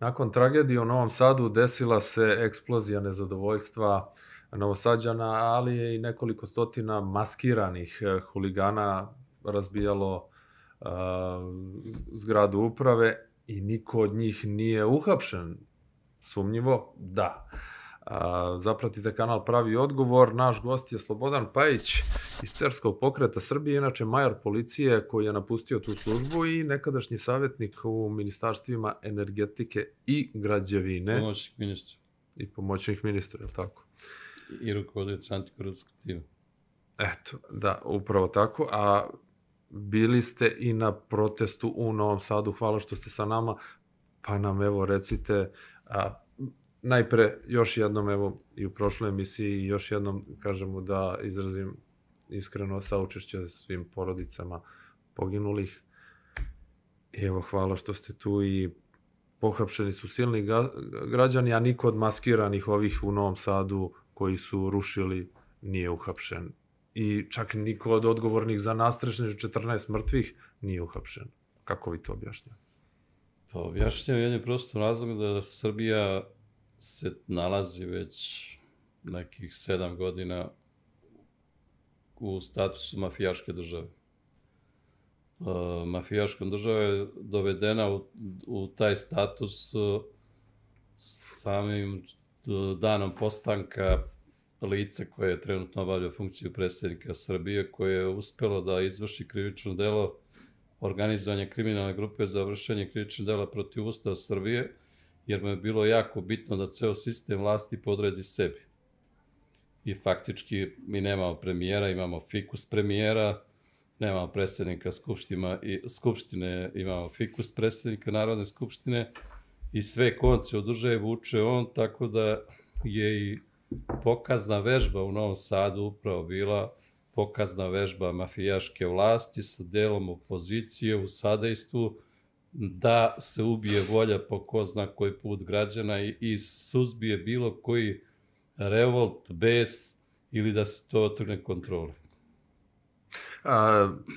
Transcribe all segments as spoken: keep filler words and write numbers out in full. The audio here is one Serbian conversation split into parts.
Nakon tragedije u Novom Sadu desila se eksplozija nezadovoljstva Novosađana, ali je i nekoliko stotina maskiranih huligana razbijalo zgradu uprave i niko od njih nije uhapšen. Sumnjivo? Da. Zapratite kanal Pravi odgovor. Naš gost je Slobodan Pajić iz Cerskog pokreta Srbije, inače major policije koji je napustio tu službu i nekadašnji savjetnik u ministarstvima energetike i građevine. Pomoćnik ministra. I pomoćnik ministra, je li tako? I rukovodilac antikorupcijskog tima. Eto, da, upravo tako. A bili ste i na protestu u Novom Sadu. Hvala što ste sa nama. Pa nam, evo, recite... Najpre, još jednom, evo, i u prošloj emisiji, još jednom kažemo da izrazim iskreno saučešće svim porodicama poginulih. I evo, hvala što ste tu i pohapšeni su silni građani, a niko od maskiranih ovih u Novom Sadu koji su rušili nije uhapšen. I čak niko od odgovornih za nastrešnih četrnaest mrtvih nije uhapšen. Kako vi to objašnjate? Pa objašnjam jednim prostom razlogom da Srbija se nalazi već nekih sedam godina u statusu mafijaške države. Mafijaškom država je dovedena u taj status samim danom postanka lica koje je trenutno obavljao funkciju predsjednika Srbije, koje je uspelo da izvrši krivično delo organizovanja kriminalne grupe za vršenje krivičnog dela protiv Ustava Srbije, jer mu je bilo jako bitno da ceo sistem vlasti podredi sebi. I faktički mi nemamo premijera, imamo fikus premijera, nemamo predsjednika Skupštine, imamo fikus predsjednika Narodne skupštine i sve konce u državi vuče on, tako da je i pokazna vežba u Novom Sadu upravo bila pokazna vežba mafijaške vlasti sa delom opozicije u sadejstvu da se ubije volja po ko zna koji put građana i suzbije bilo koji revolt, bes ili da se to otrgne kontrole.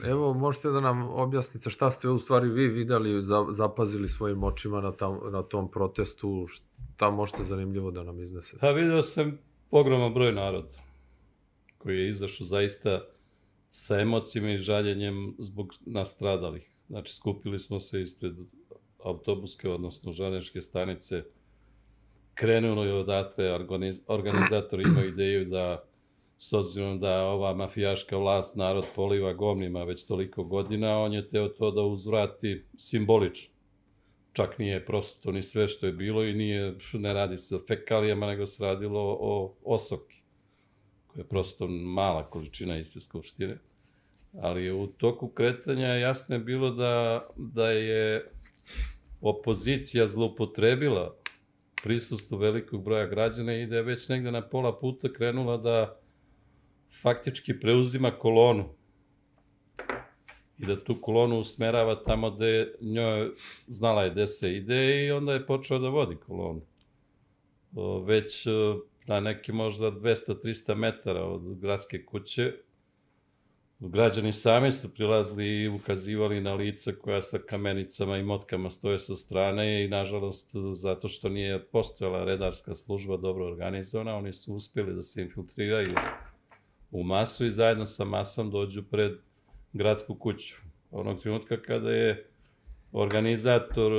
Evo, možete da nam objasnite šta ste u stvari vi videli, zapazili svojim očima na tom protestu, šta možete zanimljivo da nam iznesete? Pa vidio sam ogroman broj naroda koji je izašao zaista sa emocijama i žaljenjem zbog nastradalih. Znači, skupili smo se ispred autobuske, odnosno železničke stanice. Krenulo je odatle, organizatori imaju ideju da, s obzirom da ova mafijaška vlast narod poliva govnima već toliko godina, on je teo to da uzvrati simbolično. Čak nije prosto ni sve što je bilo i ne radi se o fekalijama, nego se radilo o osoki, koja je prosto mala količina iste skupštine. Ali u toku kretanja jasno je bilo da je opozicija zloupotrebila prisustvo velikog broja građana i da je već negde na pola puta krenula da faktički preuzima kolonu i da tu kolonu usmerava tamo gde njoj znala je gde se ide i onda je počela da vodi kolonu. Već na neki možda dvesta do trista metara od gradske kuće građani sami su prilazili i ukazivali na lica koja sa kamenicama i motkama stoje sa strane i, nažalost, zato što nije postojala redarska služba dobro organizovana, oni su uspjeli da se infiltriraju u masu i zajedno sa masom dođu pred gradsku kuću. Onog trenutka kada je organizator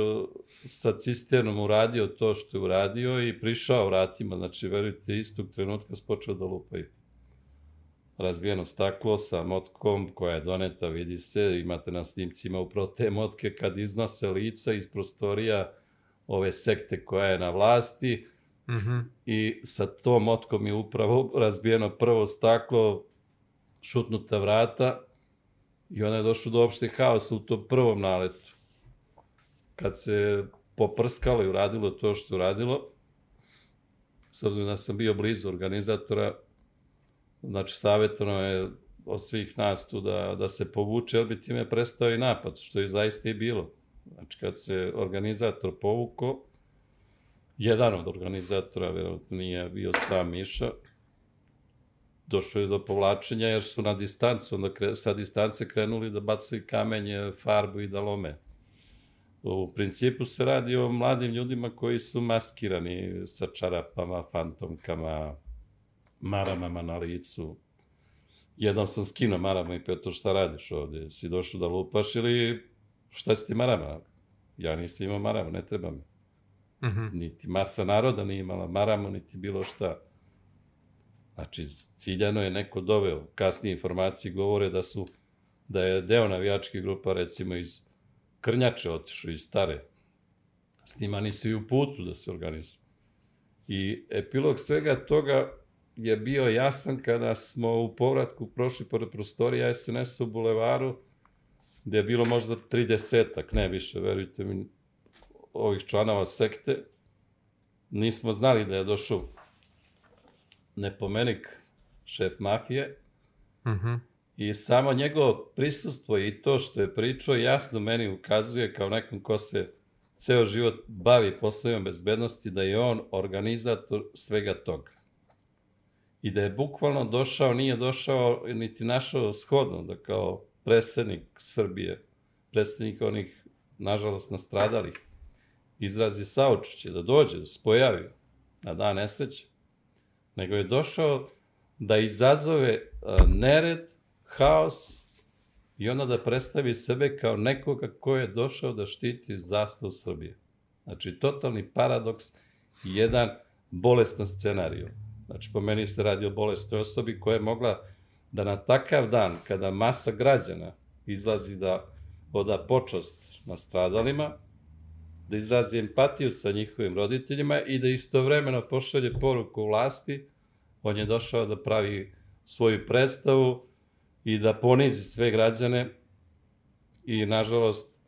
sa cisternom uradio to što je uradio i prišao vratima, znači, verujte, istog trenutka spočeo da lupaju. Razbijeno staklo sa motkom koja je doneta, vidi se, imate na snimcima upravo te motke kad iznose lica iz prostorija ove sekte koja je na vlasti i sa tom motkom je upravo razbijeno prvo staklo, šutnuta vrata i onda je došlo do opšte haosa u tom prvom naletu. Kad se poprskalo i uradilo to što je uradilo, s obzirom da sam bio blizu organizatora, znači, savjetovano je od svih nas tu da se povuče, jer bi time prestao i napad, što je zaista i bilo. Znači, kad se organizator povuko, jedan od organizatora, verovatno nije bio sam Miša, došlo je do povlačenja jer su na distancu, onda sa distance krenuli da bacaju kamenje, farbu i da lome. U principu se radi o mladim ljudima koji su maskirani sa čarapama, fantomkama, maramama na licu. Jednom sam skinuo marama i pitao šta radiš ovdje, si došao da lupaš ili šta si ti marama? Ja nisam imao marama, ne treba mi. Mhm. Niti masa naroda nije imala maramu, niti bilo šta. Znači, ciljano je neko doveo. Kasnije informacije govore da su, da je deo navijačkih grupa, recimo iz Krnjače otišao, iz Stare. S njima nisu i u putu da se organizuju. I epilog svega toga je bio jasan kada smo u povratku prošli pored prostorija es en es u Bulevaru, gde je bilo možda tridesetak, ne više, verujte mi, ovih članova sekte. Nismo znali da je došao nepomenik, šef mafije, Mhm. i samo njegovo prisustvo i to što je pričao jasno meni ukazuje kao nekom ko se ceo život bavi poslovima bezbednosti, da je on organizator svega toga. I da je bukvalno došao, nije došao niti našao shodno da kao predsednik Srbije, predsednik onih, nažalost, nastradalih, izrazi saučešće, da dođe, da se pojavi na dan nesreće, nego je došao da izazove nered, haos i onda da predstavi sebe kao nekoga ko je došao da štiti zastavu Srbije. Znači, totalni paradoks i jedan bolestan scenarij. Znači, po meni se radi o bolesnoj osobi koja je mogla da na takav dan, kada masa građana izlazi da oda počast nastradalima, da izrazi empatiju sa njihovim roditeljima i da istovremeno pošalje poruku vlasti, on je došao da pravi svoju predstavu i da ponizi sve građane i, nažalost,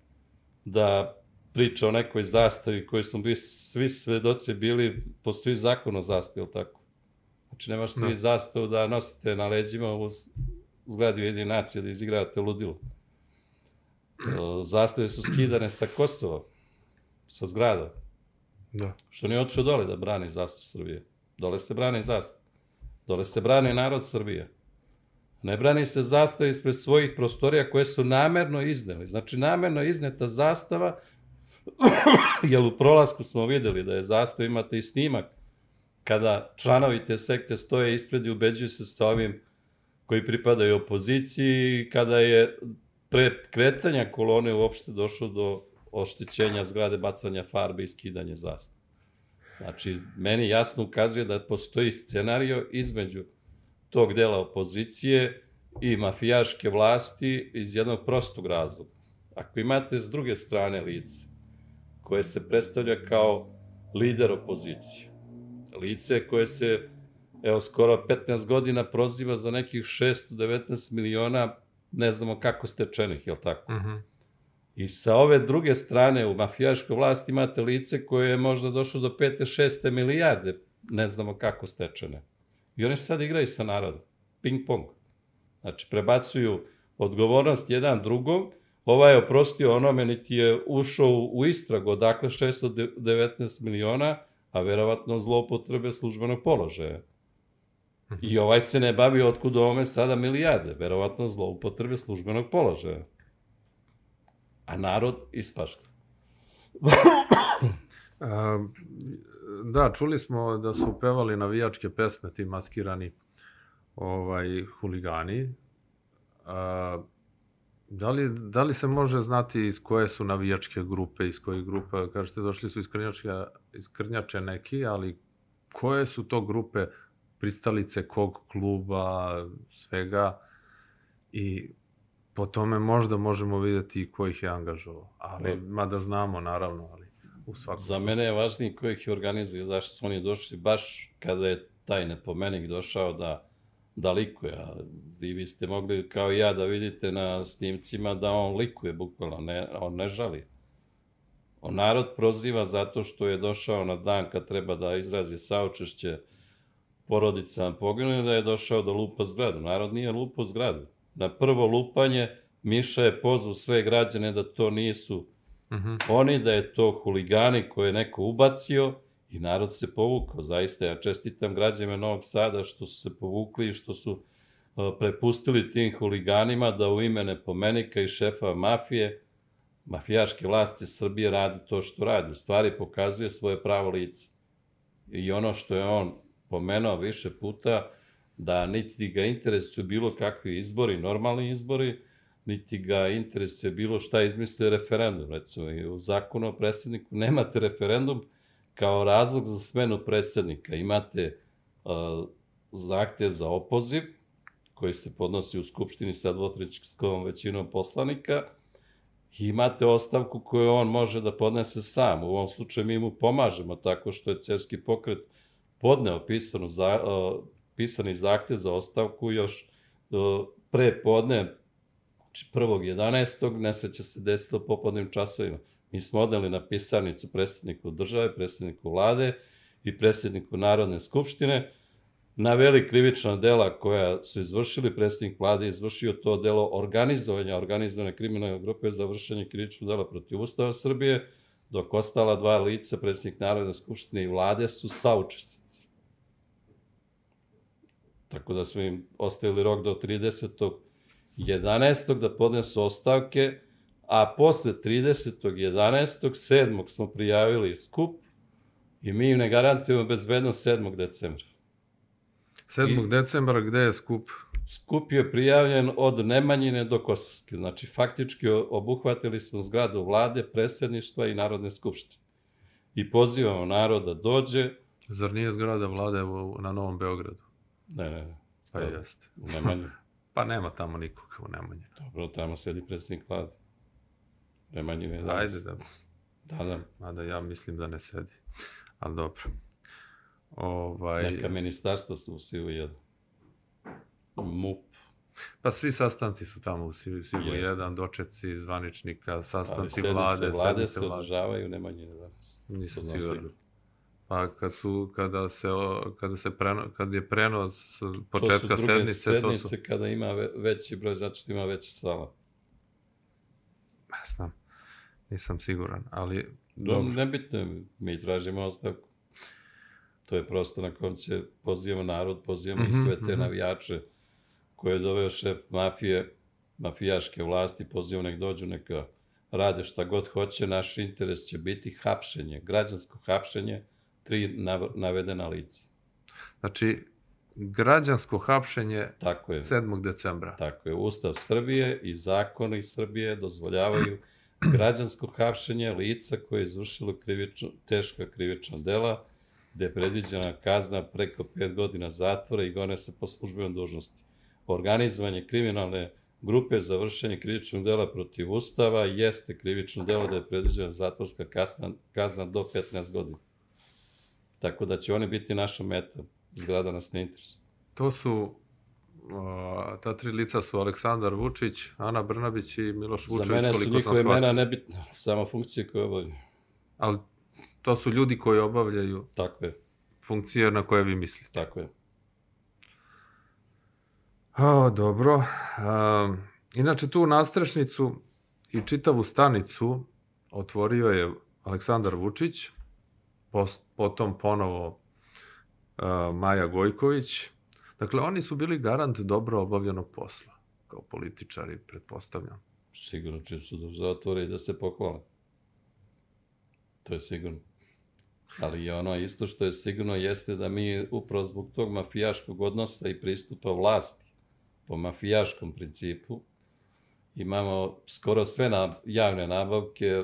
da priča o nekoj zastavi koji smo bili, svi svedoci bili, postoji zakon o zastavi, ili tako? Znači, nemaš ti zastavu da nosite na leđima u zgradi Ujedinjenih nacija da izigravate ludilo. Zastave su skidane sa Kosova, sa zgrada. Da. Što nije otišao dole da brani zastavu Srbije. Dole se brani zastav. Dole se brani narod Srbije. Ne brani se zastava ispred svojih prostorija koje su namerno izneli. Znači, namerno izneta zastava, jer u prolasku smo videli da je zastava, imate i snimak, kada članovi te sekte stoje ispred i ubeđuju se sa ovim koji pripadaju opoziciji, kada je pre kretanja kolone uopšte došlo do oštećenja zgrade, bacanja farbe i skidanja zastave. Znači, meni jasno ukazuje da postoji scenario između tog dela opozicije i mafijaške vlasti iz jednog prostog razloga. Ako imate s druge strane lice koje se predstavlja kao lider opozicije, lice koje se, evo, skoro petnaest godina proziva za nekih šesto devetnaest miliona, ne znamo kako stečenih, je li tako? Mhm. I sa ove druge strane u mafijaškoj vlasti imate lice koje je možda došlo do pete, šeste milijarde, ne znamo kako stečene. I oni sad igraju sa narodom. Ping pong. Znači, prebacuju odgovornost jedan drugom. Ovaj je oprostio onome, niti je ušao u istragu odakle šesto devetnaest miliona, a verovatno zloupotrebe službenog položaja. I ovaj se ne bavi otkud ovome sada milijarde, verovatno zloupotrebe službenog položaja. A narod ispašta. A, da, čuli smo da su pevali navijačke pesme ti maskirani ovaj, huligani. A, da, li, da li se može znati iz koje su navijačke grupe, iz kojih grupa, kažete došli su iz Krnjača, iz Krnjače neki, ali koje su to grupe, pristalice kog kluba, svega, i po tome možda možemo vidjeti i ko ih je angažovao. Ali, mada znamo, naravno, ali u svakom... Za mene je važnije ko ih je organizuje, zašto su oni došli baš kada je taj nepomenik došao da, da likuje. A vi biste mogli, kao i ja, da vidite na snimcima da on likuje, bukvalno, ne, on ne žali. On narod proziva zato što je došao na dan kad treba da izrazi saučešće porodicama poginulih, da je došao da lupa zgradu. Narod nije lupao zgradu. Na prvo lupanje Miša je pozvao sve građane da to nisu Mhm. oni, da je to huligani koje je neko ubacio i narod se povukao. Zaista, ja čestitam građanima Novog Sada što su se povukli i što su uh, prepustili tim huliganima da u ime nepomenika i šefa mafije mafijaške vlasti Srbije radi to što radi. U stvari pokazuje svoje pravo lice. I ono što je on pomenuo više puta, da niti ga interesuje bilo kakvi izbori, normalni izbori, niti ga interesuje bilo šta izmisli referendum. Recimo, i u zakonu o predsjedniku nemate referendum kao razlog za smenu predsjednika. Imate uh, zahtev za opoziv, koji se podnosi u Skupštini sa dvotrećinskom većinom poslanika, i imate ostavku koju on može da podnese sam. U ovom slučaju mi mu pomažemo tako što je Cerski pokret podneo pisanu za, uh, pisani zahtev za ostavku još uh, pre podne, znači prvog jedanaestog nesreća se desila u popodnim časovima. Mi smo odneli na pisarnicu predsjedniku države, predsjedniku vlade i predsjedniku Narodne skupštine, naveli krivična dela koja su izvršili. Predsjednik vlade izvršio to delo organizovanja, organizovane kriminalne grupe za vršenje krivičnog dela protiv Ustava Srbije, dok ostala dva lica, predsjednik Narodne skupštine i vlade, su saučesnici. Tako da smo im ostavili rok do tridesetog jedanaestog da podnesu ostavke, a posle tridesetog jedanaestog sedmog smo prijavili skup i mi im ne garantujemo bezbednost sedmog decembra. sedmog decembra, gde je skup? Skup je prijavljen od Nemanjine do Kosovske. Znači, faktički obuhvatili smo zgradu vlade, predsjedništva i Narodne skupštine. I pozivamo narod da dođe. Zar nije zgrada vlade u, na Novom Beogradu? Ne, ne, ne. Pa jeste. U Nemanjinu. Pa nema tamo nikoga u Nemanjinu. Dobro, tamo sedi predsjednik vlade. Nemanjine je danas. Ajde da. Da, da. Mada ja mislim da ne sedi. Ali dobro. Ovaj... Neka ministarstva su u Sivu jedan. MUP. Pa svi sastanci su tamo u Sivu jedan, dočeci zvaničnika, sastanci vlade. Ali sednice vlade se održavaju, Nemanjine danas. Nisam siguran. Pa kad su, kada se, kada se preno, kad je prenos početka sednice, to su... To su sednice kada ima veći broj, zato što ima veća sala. Ne znam, nisam siguran, ali... Dobro. Nebitno, mi tražimo ostavku. To je prosto na kom će pozivamo narod, pozivamo i sve te navijače koje je doveo šef mafije, mafijaške vlasti, pozivamo nek dođu, neka rade šta god hoće. Naš interes će biti hapšenje, građansko hapšenje, tri navedena lica. Znači, građansko hapšenje tako je, sedmog decembra. Tako je. Ustav Srbije i zakoni Srbije dozvoljavaju građansko hapšenje lica koje je izvršilo krivično, teška krivična dela, gde je predviđena kazna preko pet godina zatvora i gone se po službenoj dužnosti. Organizovanje kriminalne grupe za vršenje krivičnog dela protiv Ustava jeste krivično delo da je predviđena zatvorska kazna, kazna do petnaest godina. Tako da će oni biti naša meta. Zgrada nas ne interesuje. To su, o, ta tri lica su Aleksandar Vučić, Ana Brnabić i Miloš Vučević, koliko sam shvatio. Za mene su njihove imena nebitno, samo funkcije koje obavljaju. Ali to su ljudi koji obavljaju tako je. Funkcije na koje vi mislite. Tako je. O, dobro. Um, inače, tu nastrešnicu i čitavu stanicu otvorio je Aleksandar Vučić, potom ponovo uh, Maja Gojković. Dakle, oni su bili garant dobro obavljenog posla, kao političari, pretpostavljam. Sigurno će su da zatvore i da se pohvale. To je sigurno. Ali ono isto što je sigurno jeste da mi upravo zbog tog mafijaškog odnosa i pristupa vlasti po mafijaškom principu imamo skoro sve na, javne nabavke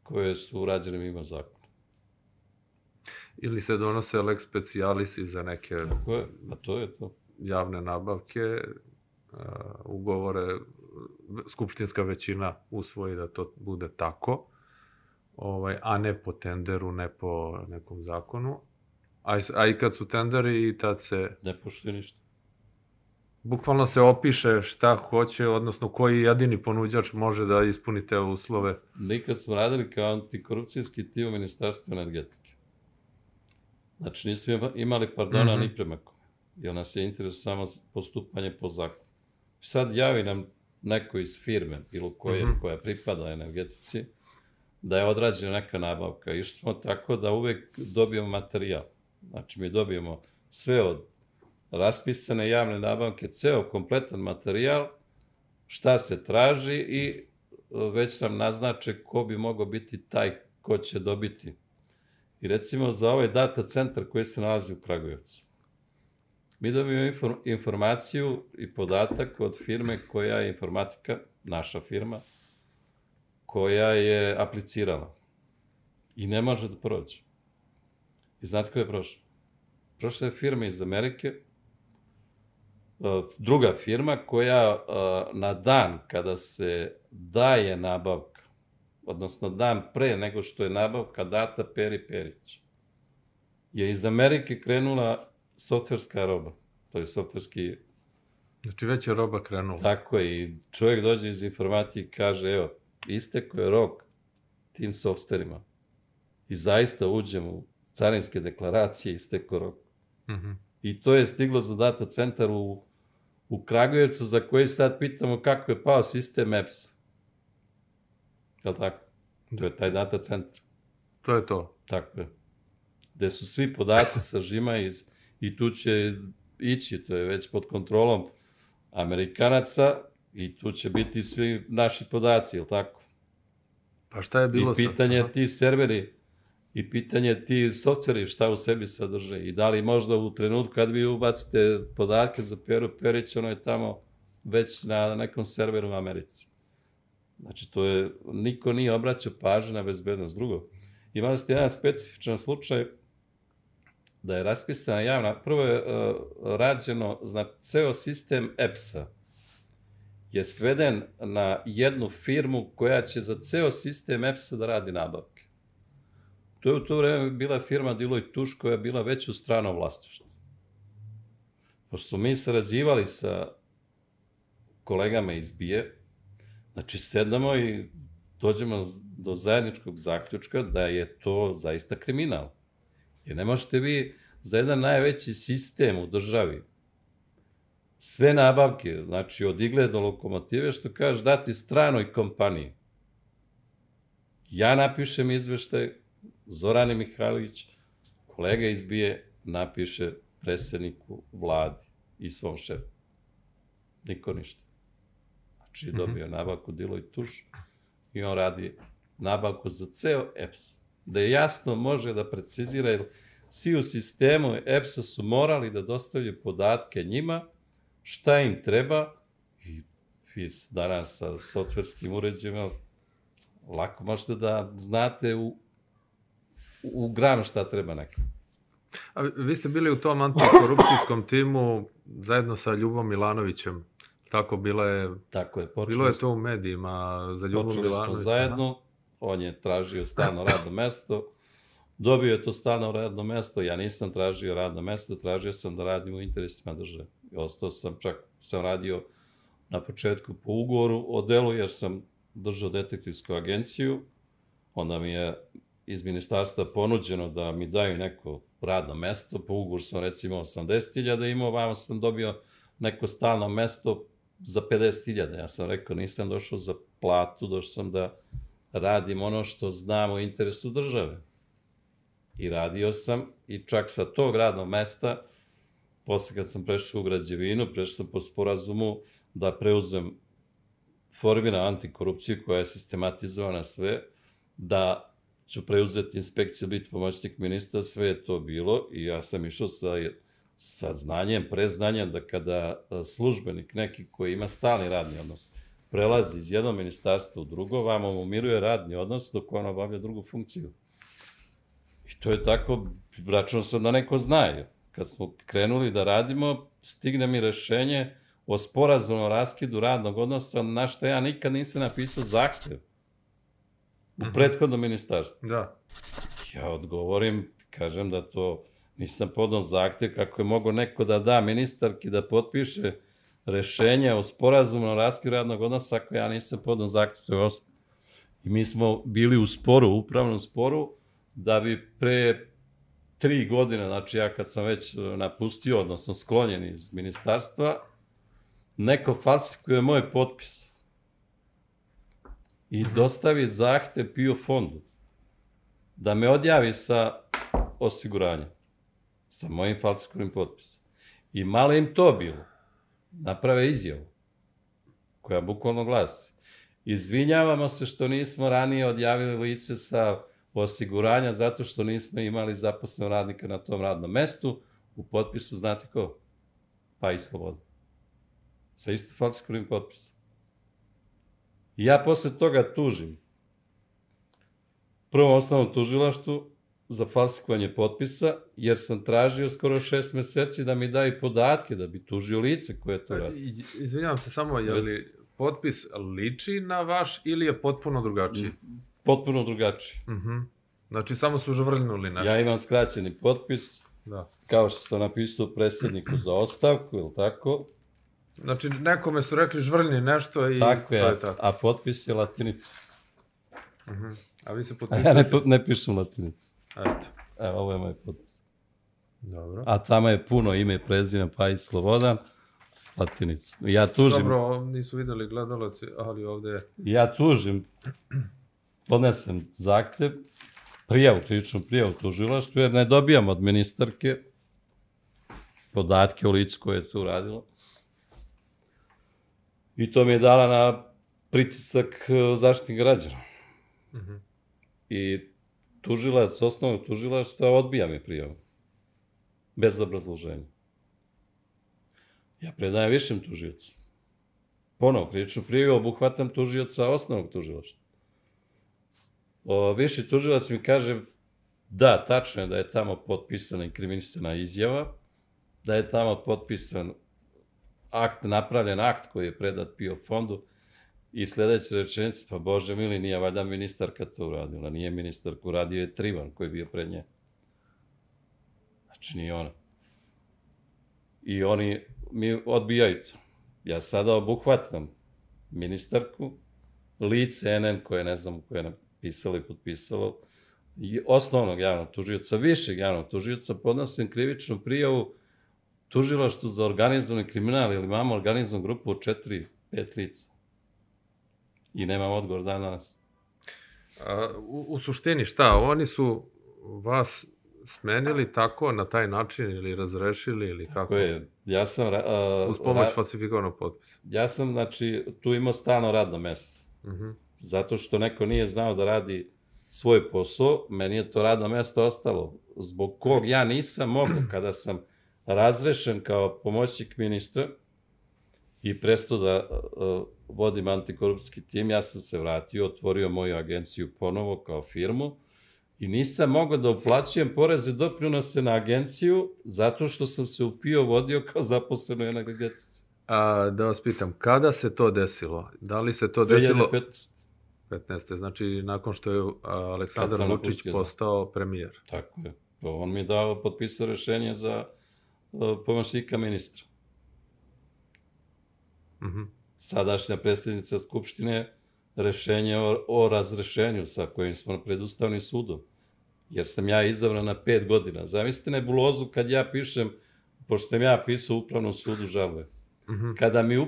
koje su urađene mimo zakona. Ili se donose lex specialisi za neke tako je, a to je to. Javne nabavke, uh, ugovore, skupštinska većina usvoji da to bude tako, ovaj, a ne po tenderu, ne po nekom zakonu. A, a i kad su tenderi i tad se... Ne poštuje ništa. Bukvalno se opiše šta hoće, odnosno koji jedini ponuđač može da ispuni te uslove. Nikad smo radili kao antikorupcijski tim u Ministarstvu energetike. Znači nismo imali pardona mm-hmm. ni prema kome, jer nas je interes samo postupanje po zakonu. Sad javi nam neko iz firme, bilo koje, mm-hmm. koja pripada energetici, da je odrađena neka nabavka. Išli smo tako da uvek dobijemo materijal. Znači mi dobijemo sve od raspisane javne nabavke, ceo kompletan materijal, šta se traži i već nam naznače ko bi mogao biti taj ko će dobiti. I recimo za ovaj data centar koji se nalazi u Kragujevcu. Mi dobijemo informaciju i podatak od firme koja je informatika, naša firma, koja je aplicirala. I ne može da prođe. I znate ko je prošao? Prošla je firma iz Amerike, druga firma koja na dan kada se daje nabavka, odnosno dan pre nego što je nabavka data Peri Perić, je iz Amerike krenula softverska roba, to je softverski... Znači već je roba krenula. Tako je, i čovjek dođe iz informatike i kaže, evo, isteko je rok tim softverima. I zaista uđemo u carinske deklaracije, isteko rok. Mm-hmm. I to je stiglo za data centar u, u Kragujevcu, za koji sad pitamo kako je pao sistem E P S. Je li tako? To je taj data centar. To je to. Tako je. Gde su svi podaci sa žima iz, i tu će ići, to je već pod kontrolom Amerikanaca i tu će biti svi naši podaci, je li tako? Pa šta je bilo sad? I pitanje ti serveri i pitanje ti softveri šta u sebi sadrže i da li možda u trenutku kad vi ubacite podatke za Peru Perić, ono je tamo već na nekom serveru u Americi. Znači, to je, niko nije obraćao pažnju na bezbednost. Drugo, imali ste jedan specifičan slučaj da je raspisana javna, prvo je uh, rađeno, znači, ceo sistem E P S-a je sveden na jednu firmu koja će za ceo sistem E P S-a da radi nabavke. To je u to vreme bila firma Deloitte Touche koja je bila već u stranom vlasništvu. Pošto smo mi sarađivali sa kolegama iz B I E, znači sedamo i dođemo do zajedničkog zaključka da je to zaista kriminal. Jer ne možete vi za jedan najveći sistem u državi sve nabavke, znači od igle do lokomotive, što kažeš, dati stranoj kompaniji. Ja napišem izveštaj, Zorane Mihajlović, kolega iz B I E, napiše predsjedniku vladi i svom šefu. Niko ništa. Znači je dobio nabavku Deloitte Touche i on radi nabavku za ceo E P S. Da je jasno može da precizira, jer svi u sistemu E P S-a su morali da dostavljaju podatke njima, šta im treba, i vi danas sa softverskim uređajima lako možete da znate u, u granu šta treba nekom. A vi ste bili u tom antikorupcijskom timu zajedno sa Ljubom Milanovićem. Tako, bila je, Tako je, bilo je to u medijima za Ljubu Milanović. Počeli smo zajedno, on je tražio stalno radno mesto, dobio je to stalno radno mesto, ja nisam tražio radno mesto, tražio sam da radim u interesima države. I ostao sam, čak sam radio na početku po ugovoru o delu, jer sam držao detektivsku agenciju, onda mi je iz ministarstva ponuđeno da mi daju neko radno mesto, po ugovoru sam recimo osamdeset hiljada imao, vamo sam dobio neko stalno mesto za pedeset hiljada. Ja sam rekao, nisam došao za platu, došao sam da radim ono što znam u interesu države. I radio sam, i čak sa tog radnog mesta, posle kad sam prešao u građevinu, prešao sam po sporazumu da preuzem formira antikorupciju koja je sistematizovana sve, da ću preuzeti inspekciju, biti pomoćnik ministra, sve je to bilo i ja sam išao sa, sa znanjem, preznanjem da kada službenik neki koji ima stalni radni odnos prelazi iz jednog ministarstva u drugo, vamo mu miruje radni odnos dok on obavlja drugu funkciju. I to je tako, računao sam da neko zna. Kad smo krenuli da radimo, stigne mi rešenje o sporazumnom raskidu radnog odnosa, na što ja nikad nisam napisao zahtev u prethodnom ministarstvu. Da. Ja odgovorim, kažem da to nisam podao zahtev, kako je mogo neko da da ministarki da potpiše rešenje o sporazumnom raskidu radnog odnosa, ako ja nisam podao zahtev. I mi smo bili u sporu, u upravnom sporu, da bi pre tri godine, znači ja kad sam već napustio, odnosno sklonjen iz ministarstva, neko falsifikuje moj potpis i dostavi zahtev P I O fondu da me odjavi sa osiguranjem, sa mojim falsifikovanim potpisom. I malo im to bilo. Naprave izjavu, koja bukvalno glasi: Izvinjavamo se što nismo ranije odjavili lice sa osiguranja zato što nismo imali zaposlenog radnika na tom radnom mestu. U potpisu znate ko? Pa i Sloboda. Sa isto falsifikovanim potpisom. I ja posle toga tužim prvom osnovnom tužilaštvu za falsifikovanje potpisa, jer sam tražio skoro šest meseci da mi daju podatke, da bi tužio lice koje to radi. Izvinjavam se samo, je li potpis liči na vaš ili je potpuno drugačiji? Potpuno drugačiji. Uh-huh. Znači, samo su žvrljnuli nešto. Ja imam skraćeni potpis, da. Kao što sam napisao predsjedniku za ostavku, ili tako. Znači, nekome su rekli žvrljni nešto i tako to je, je tako. A potpis je latinica. Uh-huh. A vi se potpisujete? Ja ne, ne pišem latinicu. Eto. Evo, ovo je moj potpis. Dobro. A tamo je puno ime i prezime, pa i Slobodan, latinica. Ja tužim... Dobro, nisu videli gledalaci, ali ovde je... Ja tužim, podnesem zahtev, prijavu, krivičnu prijavu tužilaštvu, jer ne dobijam od ministarke podatke o licu koje je tu radilo. I to mi je dala na pritisak zaštitnih građana. Uh-huh. I tužilac, osnovnog tužilaštva, odbija mi prijavu. Bez obrazloženja. Ja predajem višem tužiocu. Ponovo, krivičnu prijavu obuhvatam tužioca osnovnog tužilaštva. O, viši tužilac mi kaže, da, tačno je da je tamo potpisana inkriminisana izjava, da je tamo potpisan akt, napravljen akt koji je predat P I O fondu i sledeća rečenica, pa Bože mili, nije valjda ministarka to uradila, nije ministarka, uradio je Trivan koji je bio pred nje. Znači, nije ona. I oni mi odbijaju to. Ja sada obuhvatam ministarku, lice N N koje ne znam koje je napisalo i potpisalo, i osnovnog javnog tužioca, višeg javnog tužioca, podnosim krivičnu prijavu tužilaštvu za organizovani kriminal, ili imamo organizovanu grupu od četiri, pet lica. I nemam odgovor dan danas. A, u, u suštini šta? Oni su vas smenili tako, na taj način, ili razrešili, ili kako? Tako je. Ja sam... A, uz pomoć ra... falsifikovanog potpisa. Ja sam, znači, tu imao stalno radno mesto. Uh-huh. Zato što neko nije znao da radi svoj posao, meni je to radno mesto ostalo. Zbog kog ja nisam mogao, kada sam razrešen kao pomoćnik ministra i prestao da uh, vodim antikorupcijski tim, ja sam se vratio, otvorio moju agenciju ponovo kao firmu i nisam mogao da uplaćujem poreze doprinose na agenciju zato što sam se u P I O vodio kao zaposleno jednog agencija. A, da vas pitam, kada se to desilo? Da li se to desilo... dve hiljade petnaeste. petnaeste. Znači, nakon što je Aleksandar Vučić postao premijer. Tako je. On mi je dao, potpisao rešenje za uh, pomoćnika ministra. Uh-huh. Sadašnja predsjednica Skupštine rešenje o, o razrešenju sa kojim smo pred Ustavnim sudom. Jer sam ja izabran na pet godina. Zamislite nebulozu kad ja pišem, pošto sam ja pisao u Upravnom sudu žalbe. Uh-huh. Kada mi, uh,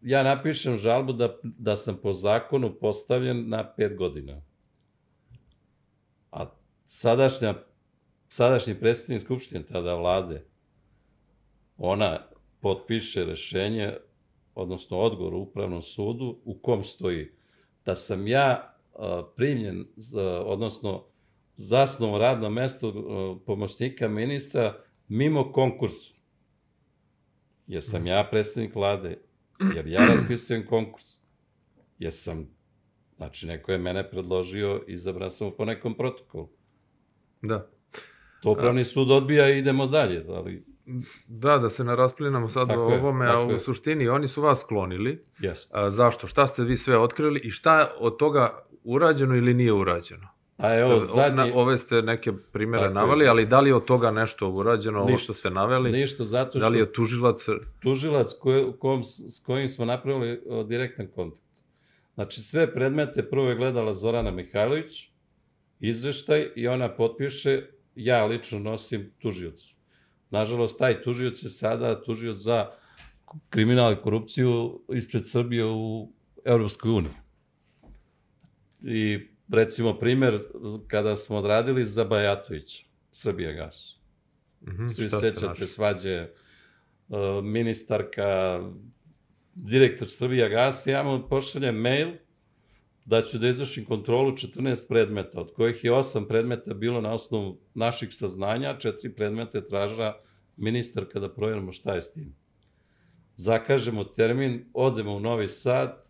ja napišem žalbu da, da sam po zakonu postavljen na pet godina. A sadašnja, sadašnji predsjednik Skupštine, tada vlade, ona potpiše rešenje, odnosno odgovor u Upravnom sudu, u kom stoji da sam ja uh, primljen, za, odnosno zasnovan radno mesto uh, pomoćnika ministra mimo konkursa. Jer sam ja predsjednik vlade, jer ja raspisujem konkurs. Jer sam, znači neko je mene predložio, izabran sam po nekom protokolu. Da. To Upravni sud odbija i idemo dalje, ali... Da, da se ne rasplinamo sad o ovome, a u suštini oni su vas sklonili. Jeste. Zašto? Šta ste vi sve otkrili i šta od toga urađeno ili nije urađeno? A evo, zadnji... Ove ste neke primjere naveli, ali da li je od toga nešto urađeno, ovo što ste naveli? Ništa, zato što... Da li je tužilac... Tužilac koje, kom, s kojim smo napravili o, direktan kontakt. Znači, sve predmete prvo je gledala Zorana Mihajlović, izveštaj, i ona potpiše, ja lično nosim tužiocu. Nažalost, taj tužioc je sada tužioc za kriminal i korupciju ispred Srbije u Evropskoj uniji. I recimo primjer, kada smo odradili za Bajatovića, Srbijagas. Mm-hmm, Svi sećate svađe, uh, ministarka direktor Srbija gasa, ja mu pošaljem mail da ću da izvršim kontrolu četrnaest predmeta, od kojih je osam predmeta bilo na osnovu naših saznanja, četiri predmeta je tražila ministarka da provjerimo šta je s tim. Zakažemo termin, odemo u Novi Sad,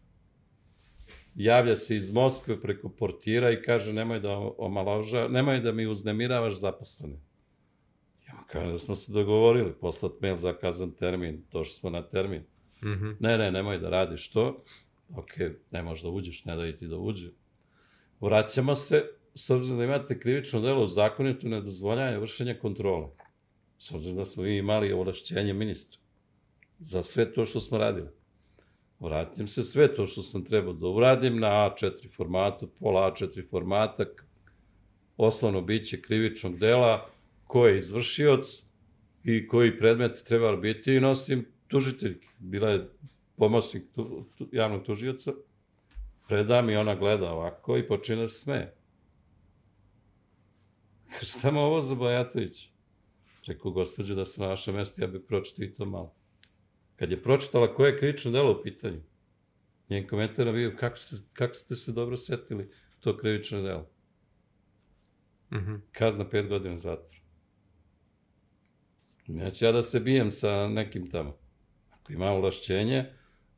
javlja se iz Moskve preko portira i kaže nemoj da omaloža, nemoj da mi uznemiravaš zaposlene. Ja mu kažem da smo se dogovorili, poslat mail, zakazan termin, došli smo na termin. Mhm. Ne, ne, nemoj da radiš to. Ok, ne možeš da uđeš, ne da ti da uđe. Vraćamo se, s obzirom da imate krivično delo u zakonitu nedozvoljavanje vršenja kontrole. S obzirom da smo imali ovlašćenje ministra za sve to što smo radili. Vratim se, sve to što sam trebao da uradim na A četiri formatu, pola A četiri formata, osnovno biće krivičnog dela, ko je izvršioc i koji predmet treba biti i nosim tužiteljke. Bila je pomoćnik tu, tu, javnog tužioca, predam i ona gleda ovako i počine da se smeje. Kaže, samo ovo za Bajatović. Rekao, gospođo, da sam na vašem mjestu, ja bih pročitao i to malo. Kad je pročitala koje je krivično delo u pitanju, njen komentar je bio, kako, se, kako ste se dobro setili to krivično delo. Mhm. Kazna pet godina zatvora. Neću ja da se bijem sa nekim tamo. Ako ima ovlašćenje,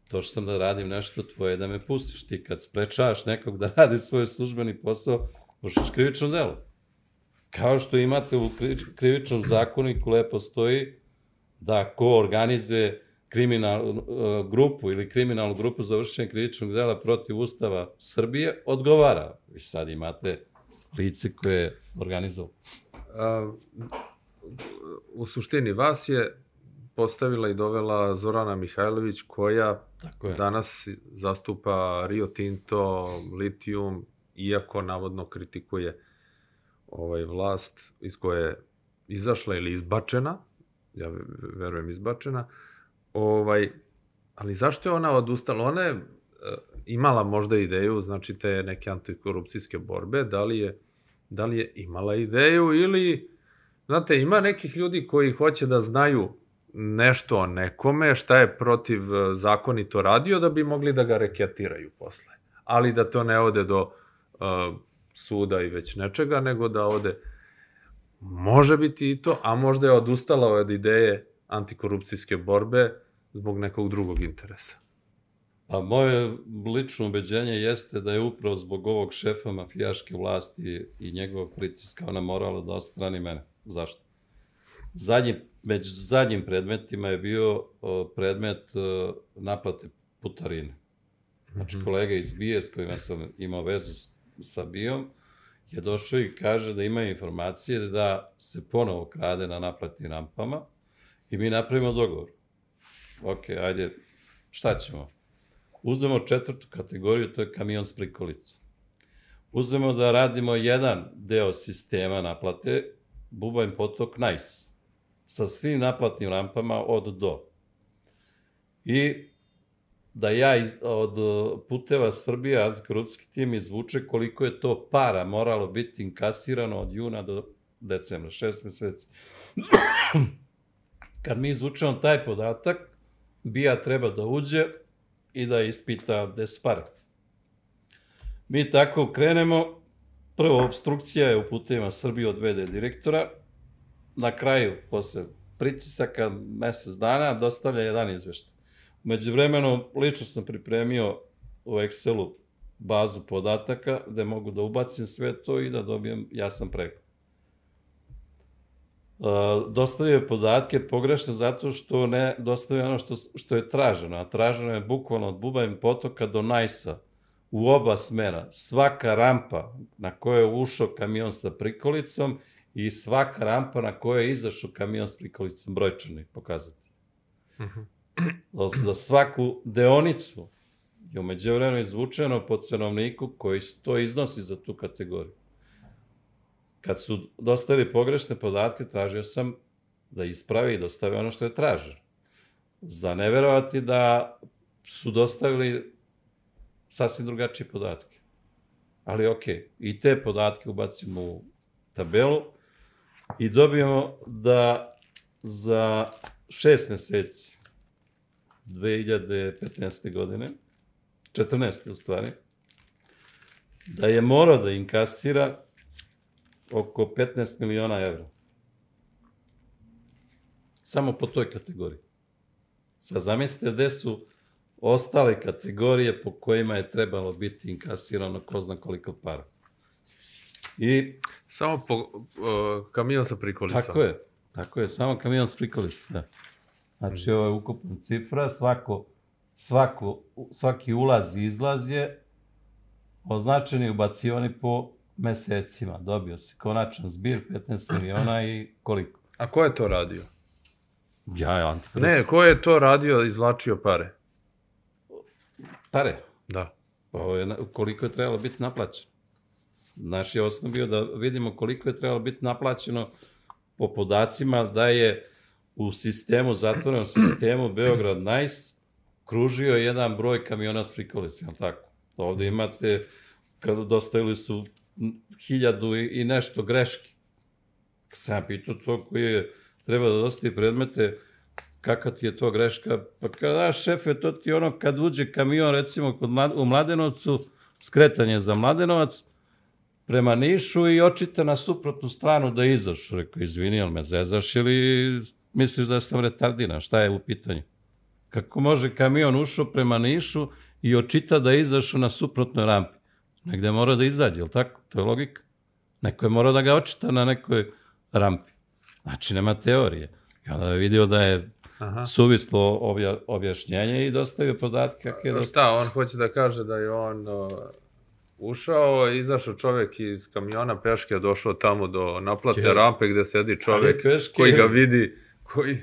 došao sam da radim nešto tvoje, da me pustiš. Ti kad sprečavaš nekog da radi svoj službeni posao, vršiš krivično delo. Kao što imate u krivičnom zakoniku lepo stoji da ko organizuje kriminalnu grupu ili kriminalnu grupu za vršenje krivičnog dela protiv Ustava Srbije, odgovara. Vi sad imate lice koje je organizovalo. U suštini vas je postavila i dovela Zorana Mihajlović, koja danas zastupa Rio Tinto, litijum, iako navodno kritikuje ovaj vlast iz koje je izašla ili izbačena, ja verujem izbačena, ovaj, ali zašto je ona odustala? Ona je imala možda ideju, znači te neke antikorupcijske borbe, da li je, da li je imala ideju ili, znate, ima nekih ljudi koji hoće da znaju nešto o nekome, šta je protiv zakonito radio, da bi mogli da ga reketiraju posle. Ali da to ne ode do uh, suda i već nečega, nego da ode, može biti i to, a možda je odustala od ideje antikorupcijske borbe zbog nekog drugog interesa. A moje lično ubeđenje jeste da je upravo zbog ovog šefa mafijaške vlasti i njegovog pritiska ona morala da odstrani mene. Zašto? Zadnji, među zadnjim predmetima je bio predmet naplate putarine. Znači, kolega iz B I E s kojima sam imao vezu sa B I O-om je došao i kaže da ima informacije da se ponovo krade na naplatnim rampama i mi napravimo dogovor. Ok, ajde, šta ćemo? Uzmemo četvrtu kategoriju, to je kamion s prikolicom. Uzmemo da radimo jedan deo sistema naplate, Bubanj potok Nice, sa svim naplatnim rampama od do. I da ja iz, od Puteva Srbije, antikorupcijski tim, izvuče koliko je to para moralo biti inkasirano od juna do decembra, šest meseci. Kad mi izvučemo taj podatak, B I A treba da uđe i da ispita gde su pare. Mi tako krenemo, prvo obstrukcija je u Putevima Srbije od V D direktora, na kraju, posle pritisaka, mesec dana, dostavlja jedan izveštaj. Umeđu vremenu, lično sam pripremio u Excelu bazu podataka, gde mogu da ubacim sve to i da dobijem jasan pregled. Dostavio podatke pogrešno zato što ne dostavio ono što, što je traženo, a traženo je bukvalno od Bubanj potoka do Najsa u oba smera. Svaka rampa na kojoj je ušao kamion sa prikolicom i svaka rampa na kojoj je izašao kamion s prikolicom, brojčani pokazatelj. Za svaku deonicu je umeđu vremenu izvučeno po cenovniku koji to iznosi za tu kategoriju. Kad su dostavili pogrešne podatke, tražio sam da ispravi i dostave ono što je traženo. Za ne verovati da su dostavili sasvim drugačije podatke. Ali okej, i te podatke ubacimo u tabelu i dobijemo da za šest meseci dve hiljade petnaeste. godine, četrnaeste u stvari, da je morao da inkasira oko petnaest miliona evra. Samo po toj kategoriji. Sad zamislite gde su ostale kategorije po kojima je trebalo biti inkasirano ko zna koliko para. I... Samo po uh, kamion sa prikolicom. Tako je, tako je, samo kamion sa prikolicom, da. Znači, ovo je ukupna cifra, svako, svako, svaki ulaz i izlaz je označeni i ubacivani po mesecima. Dobio se konačan zbir, petnaest miliona i koliko. A ko je to radio? Ja, ja, antikorupcija. Ne, ko je to radio, izvlačio pare? Pare? Da. Ovo je, koliko je trebalo biti naplaćeno. Naš je osnov bio da vidimo koliko je trebalo biti naplaćeno po podacima da je u sistemu, zatvorenom sistemu Beograd Nice kružio jedan broj kamiona s prikolicama, tako? Ovde imate, kada dostavili su hiljadu i nešto greški. Sam ja pitao to koji je treba da dostavi predmete, kakva ti je to greška? Pa kada, šefe, to ti ono kad uđe kamion, recimo kod Mlad, u Mladenovcu, skretanje za Mladenovac, prema Nišu i očita na suprotnu stranu da izaš. Rekao, izvini, ali me zezaš ili misliš da sam retardiran? Šta je u pitanju? Kako može kamion ušao prema Nišu i očita da izašao na suprotnoj rampi? Negde mora da izađe, je tako? To je logika. Neko je morao da ga očita na nekoj rampi. Znači, nema teorije. I onda je vidio da je Aha. suvislo obja, objašnjenje i dostavio podatke kako je dostavio. Šta, on hoće da kaže da je on uh, ušao, izašao čovjek iz kamiona peške, došao tamo do naplatne Kjer. rampe gde sedi čovjek koji ga vidi, koji...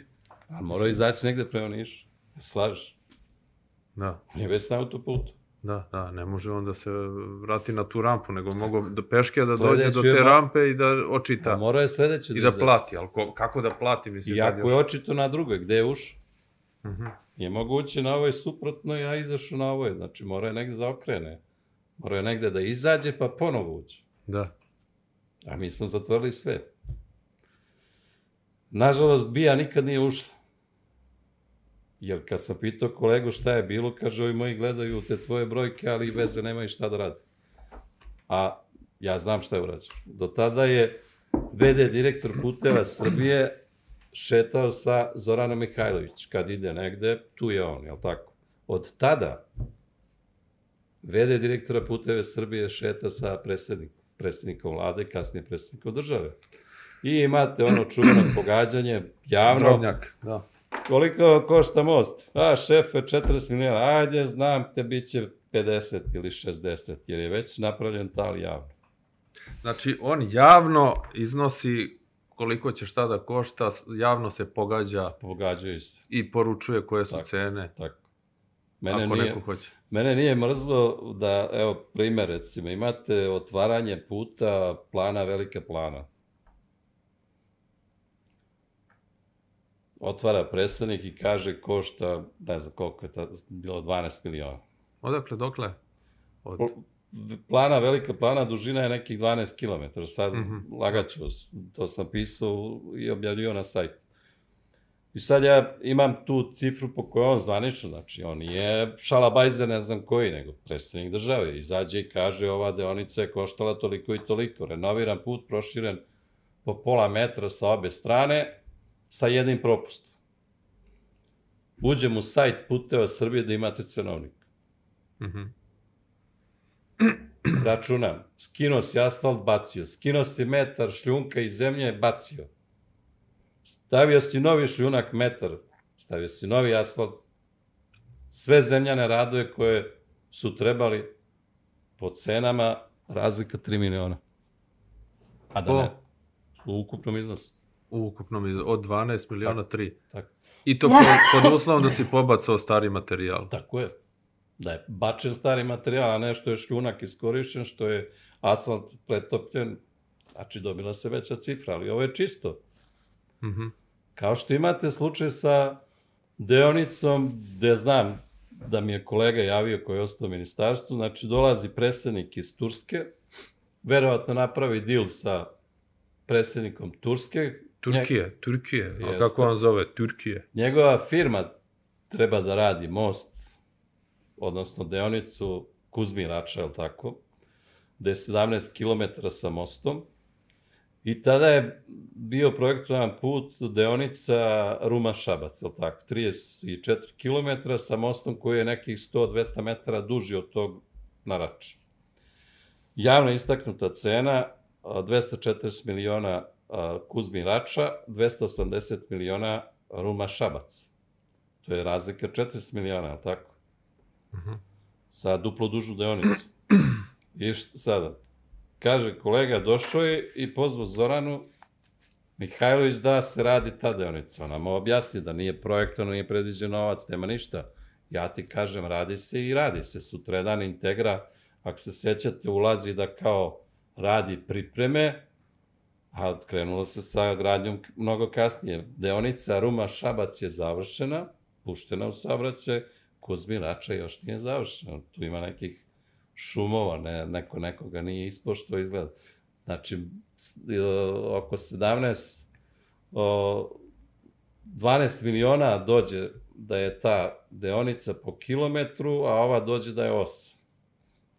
A mora izaći negde prema Nišu. Slažeš. Da. On je već na autoputu. Da, da, ne može on da se vrati na tu rampu, nego mogu do peške da dođe do te rampe i da očita. A mora je sledeće da I da plati, ali ko, kako da plati? Mislim, iako je očito na drugoj, gde je ušao. Uh -huh. Je moguće na ovoj suprotno, ja izašao na ovoj. Znači, mora je negde da okrene. Mora je negde da izađe, pa ponovo uđe. Da. A mi smo zatvorili sve. Nažalost, BIA nikad nije ušla. Jer kad sam pitao kolegu šta je bilo, kaže, ovi moji gledaju te tvoje brojke, ali i veze nemaju šta da rade. A ja znam šta je urađeno. Do tada je ve de direktor Puteva Srbije šetao sa Zoranom Mihajlović. Kad ide negde, tu je on, jel tako? Od tada ve de direktora Puteve Srbije šeta sa predsjednikom, predsjednikom vlade, kasnije predsjednikom države. I imate ono čuveno pogađanje, javno. Drobnjak, da. Koliko košta most? A, šefe, četrdeset miliona. Ajde, znam te, bit će pedeset ili šezdeset, jer je već napravljen tal javno. Znači, on javno iznosi koliko će šta da košta, javno se pogađa. Pogađaju se. I poručuje koje su tako, cene. Tako. Mene ako nije, neko hoće. Mene nije mrzlo da, evo, primer, recimo, imate otvaranje puta plana Velika Plana. Otvara predstavnik i kaže košta, ne znam koliko je ta, bilo dvanaest miliona. Odakle, dokle? Od... Plana, Velika Plana, dužina je nekih dvanaest kilometara. Sad mm -hmm. lagaću, to sam pisao i objavljio na sajtu. I sad ja imam tu cifru po kojoj on zvanično, znači on nije šalabajzer, ne znam koji, nego predstavnik države. Izađe i kaže ova deonica je koštala toliko i toliko. Renoviran put, proširen po pola metra sa obe strane, sa jednim propustom. Uđem u sajt Puteva Srbije da imate cenovnik. Mm -hmm. Računam. Skinuo si asfalt, bacio. Skinuo si metar šljunka iz zemlje, bacio. Stavio si novi šljunak, metar. Stavio si novi asfalt. Sve zemljane radove koje su trebali po cenama razlika tri miliona. A da ne, u ukupnom iznosu. U ukupnom iznosu, od dvanaest miliona, tri. Tako. I to pod, pod uslovom da si pobacao stari materijal. Tako je. Da je bačen stari materijal, a ne što je šljunak iskorišćen, što je asfalt pretopljen, znači dobila se veća cifra, ali ovo je čisto. Mm -hmm. Kao što imate slučaj sa deonicom, gde znam da mi je kolega javio koji je ostao u ministarstvu, znači dolazi predsednik iz Turske, verovatno napravi deal sa predsednikom Turske. Turkije, Turkije, a kako on zove? Turkije. Njegova firma treba da radi most, odnosno deonicu Kuzmin-Rača, je li tako, gde je sedamnaest kilometara sa mostom. I tada je bio projektovan put deonica Ruma-Šabac, je li tako, trideset četiri kilometra sa mostom koji je nekih sto do dvesta metara duži od tog na Rači. Javno istaknuta cena, dvesta četrdeset miliona Kuzmin-Rača, dvesta osamdeset miliona Ruma-Šabac. To je razlika četrdeset miliona, je li tako? Sa duplo dužu deonicu. I sada, kaže kolega, došao je i pozvao Zoranu Mihajlović da se radi ta deonica. Ona mu objasni da nije projektovano, nije predviđen novac, nema ništa. Ja ti kažem, radi se i radi se. Sutradan Integra, ako se sećate, ulazi da kao radi pripreme, a krenulo se sa gradnjom mnogo kasnije. Deonica Ruma-Šabac je završena, puštena u saobraćaj, Kuzmin-Rača još nije završena. Tu ima nekih šumova, ne, neko nekoga nije ispošto izgleda. Znači, oko sedamnaest, dvanaest miliona dođe da je ta deonica po kilometru, a ova dođe da je osam.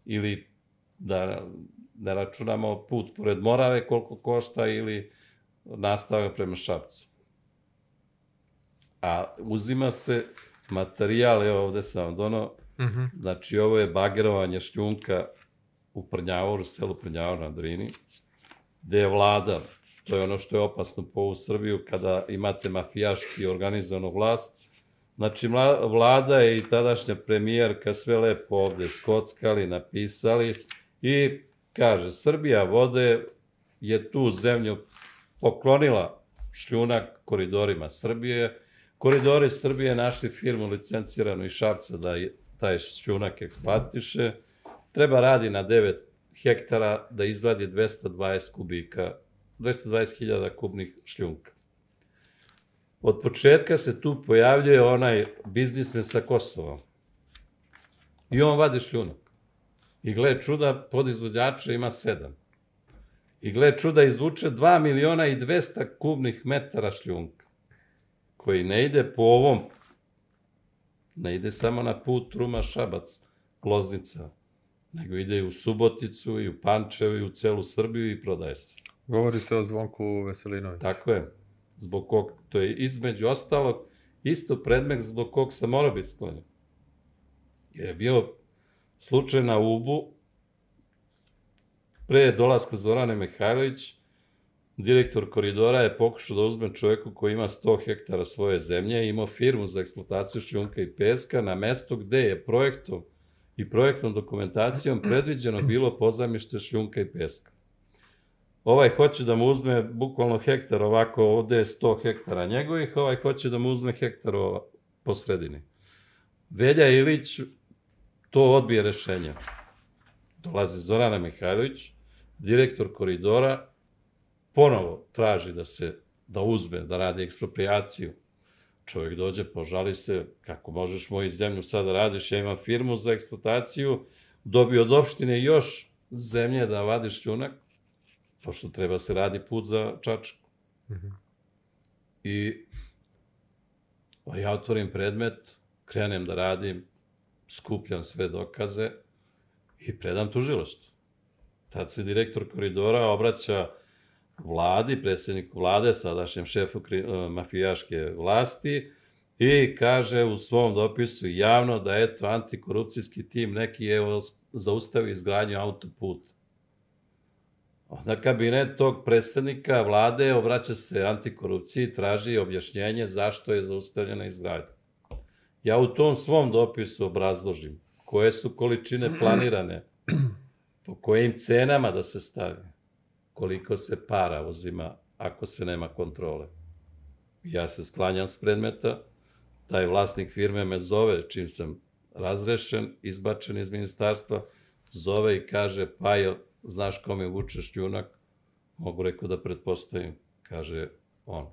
Ili da ne računamo put pored Morave koliko košta ili nastavak prema Šapcu. A uzima se materijal, evo ovde sam vam donao, znači ovo je bagerovanje šljunka u Prnjavoru, selu Prnjavor na Drini, gde je vlada, to je ono što je opasno po ovu Srbiju kada imate mafijaški organizovanu vlast, znači vlada i tadašnja premijerka sve lepo ovde skockali, napisali i kaže, Srbija vode je tu zemlju poklonila šljunak koridorima Srbije. Koridori Srbije našli firmu licenciranu iz Šapca da taj šljunak eksploatiše. Treba radi na devet hektara da izvadi dvesta dvadeset kubika, dvesta dvadeset hiljada kubnih šljunka. Od početka se tu pojavljuje onaj biznismen sa Kosova. I on vadi šljunak. I gle čuda, podizvođača ima sedam. I gle čuda, izvuče dva miliona i dvesta kubnih metara šljunka, koji ne ide po ovom, ne ide samo na put Ruma-Šabac, Loznica, nego ide i u Suboticu, i u Pančevo, i u celu Srbiju i prodaje se. Govorite o Zvonku Veselinoviću. Tako je. Zbog kog, to je između ostalog isto predmet zbog kog sam morao biti sklonjen. Je bio slučaj na Ubu, pre dolaska Zorane Mihajlović, direktor koridora je pokušao da uzme čoveku koji ima sto hektara svoje zemlje, imao firmu za eksploataciju šljunka i peska na mestu gde je projektom i projektnom dokumentacijom predviđeno bilo pozajmište šljunka i peska. Ovaj hoće da mu uzme bukvalno hektar, ovako ovde je sto hektara njegovih, ovaj hoće da mu uzme hektar po sredini. Velja Ilić to odbije rešenje. Dolazi Zorana Mihajlović, direktor koridora, ponovo traži da se, da uzme, da radi eksproprijaciju. Čovjek dođe, požali se, kako možeš moju zemlju sada radiš, ja imam firmu za eksploataciju, dobio od opštine još zemlje da vadi šljunak, pošto treba se radi put za Čačku. I ja otvorim predmet, krenem da radim, skupljam sve dokaze i predam tužilaštvu. Tad se direktor koridora obraća vladi, predsjedniku vlade, sadašnjem šefu mafijaške vlasti i kaže u svom dopisu javno da eto antikorupcijski tim neki je zaustavio izgradnju autoputa. Onda kabinet tog predsjednika vlade obraća se antikorupciji, traži objašnjenje zašto je zaustavljena izgradnja. Ja u tom svom dopisu obrazložim koje su količine planirane, po kojim cenama da se stavi, koliko se para uzima ako se nema kontrole. Ja se sklanjam s predmeta, taj vlasnik firme me zove, čim sam razrešen, izbačen iz ministarstva, zove i kaže, Pajo, znaš kome vuče šljunak? Mogu rekao da pretpostavim, kaže on.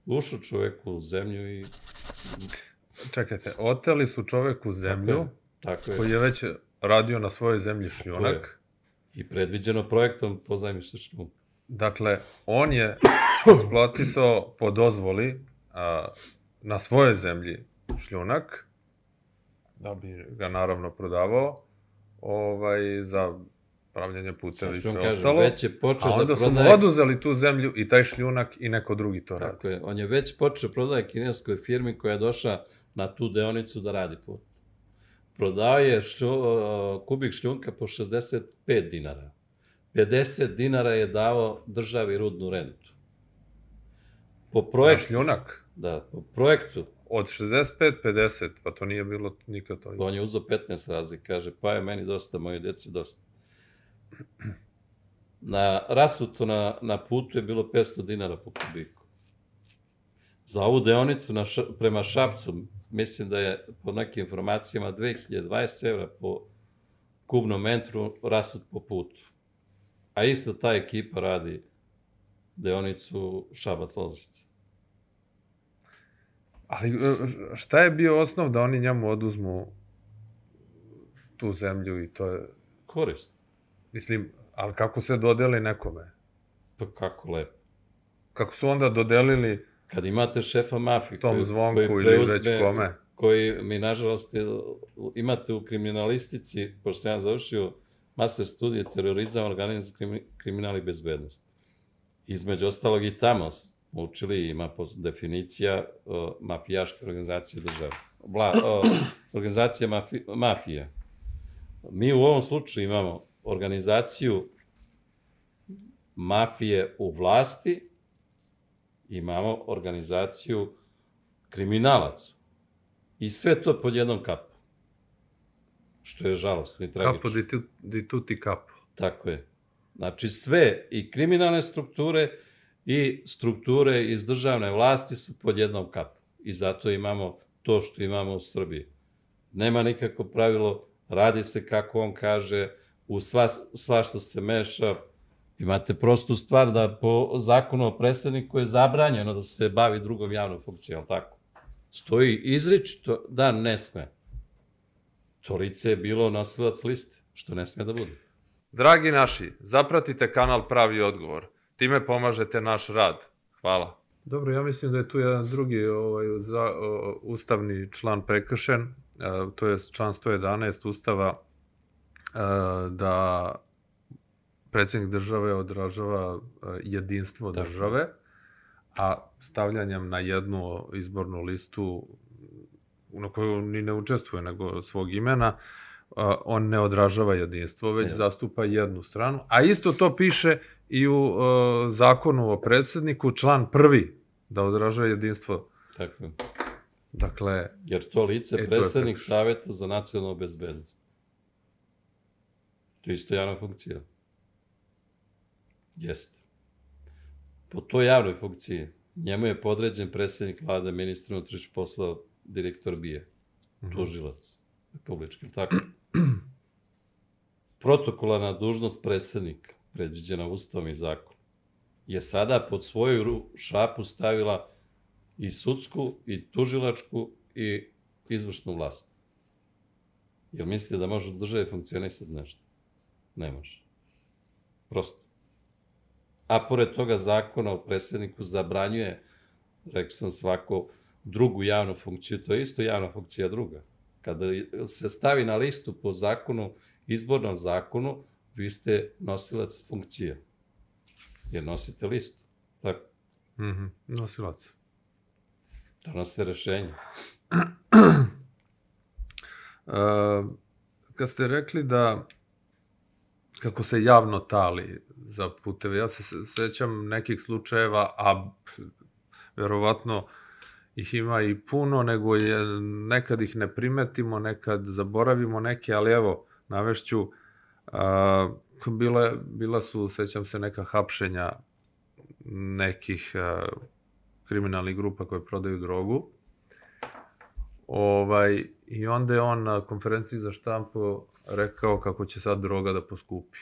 Ušao čoveku u zemlju i... Čekajte, oteli su čoveku zemlju, koji je već radio na svojoj zemlji šljunak. I predviđeno projektom pozajmište šljunka. Dakle, on je eksploatisao po dozvoli na svojoj zemlji šljunak, da bi ga naravno prodavao, ovaj, za pravljanje puteva i sve ostalo, već je počeo a onda da su mu prodaje... oduzeli tu zemlju i taj šljunak i neko drugi to radi. Tako je, on je već počeo prodaje kineskoj firmi koja je došla na tu deonicu da radi put. Prodao je šlju, kubik šljunka po šezdeset pet dinara. pedeset dinara je dao državi rudnu rentu. Po projektu... Na šljunak? Da, po projektu. Od šezdeset pet pedeset, pa to nije bilo nikad to. On je uzeo petnaest razlika, kaže, pa je meni dosta, moje djeci dosta. Na rasuto na, na putu je bilo petsto dinara po kubiku. Za ovu deonicu na ša, prema Šapcu, mislim da je po nekim informacijama dve hiljade dvadeset evra po kubnom metru rasut po putu. A isto ta ekipa radi deonicu Šabac-Loznica. Ali šta je bio osnov da oni njemu oduzmu tu zemlju i to je... Korist. Mislim, ali kako se dodeli nekome? Pa kako lepo. Kako su onda dodelili... Kad imate šefa mafije... Tom Zvonku ili već kome? Koji mi, nažalost, imate u kriminalistici, pošto sam ja završio master studije terorizam, organizam, kriminal i bezbednost. Između ostalog i tamo učili, ima definicija uh, mafijaške organizacije države. Vla, uh, organizacija mafi, mafije. Mi u ovom slučaju imamo organizaciju mafije u vlasti, imamo organizaciju kriminalaca. I sve to pod jednom kapom. Što je žalostno i tragično. Kapo di, tu, di tuti kapo. Tako je. Znači sve, i kriminalne strukture, i strukture iz državne vlasti su pod jednom kapom. I zato imamo to što imamo u Srbiji. Nema nikako pravilo, radi se kako on kaže, u sva, sva što se meša. Imate prostu stvar da po zakonu o predsjedniku je zabranjeno da se bavi drugom javnom funkcijom, tako? Stoji izričito da ne sme. To lice je bilo nosilac liste, što ne sme da bude. Dragi naši, zapratite kanal Pravi odgovor. Time pomažete naš rad. Hvala. Dobro, ja mislim da je tu jedan drugi ovaj, za, o, ustavni član prekršen. E, to je član sto jedanaest Ustava, e, da predsjednik države odražava jedinstvo Tako. države, a stavljanjem na jednu izbornu listu na koju ni ne učestvuje nego svog imena, on ne odražava jedinstvo, već ne. zastupa jednu stranu. A isto to piše i u uh, zakonu o predsjedniku, član prvi, da odražava jedinstvo. Tako je. Dakle... Jer to lice e, predsjednik to Savjeta za nacionalnu bezbednost. To je isto javna funkcija. Jeste. Po toj javnoj funkciji njemu je podređen predsjednik vlade, ministar unutrašnjih poslova, direktor B I A, mm-hmm. tužilac republički, tako? Protokolarna dužnost predsjednika, predviđena Ustavom i zakonom, je sada pod svoju šapu stavila i sudsku, i tužilačku, i izvršnu vlast. Jel mislite da može u državi funkcionisati nešto? Ne može. Prosto. A pored toga zakona o predsjedniku zabranjuje, rekao sam, svako drugu javnu funkciju, to je isto javna funkcija druga. Kada se stavi na listu po zakonu, izbornom zakonu, vi ste nosilac funkcije. Jer nosite listu. Tako? Mm-hmm. Nosilac. Donosite rešenje. uh, kad ste rekli da kako se javno tali za puteve, ja se sećam nekih slučajeva, a verovatno ih ima i puno, nego je, nekad ih ne primetimo, nekad zaboravimo neke, ali evo, navešću, uh, bila, bila su, sećam se, neka hapšenja nekih uh, kriminalnih grupa koje prodaju drogu. Ovaj, I onda je on na konferenciji za štampu rekao kako će sad droga da poskupi.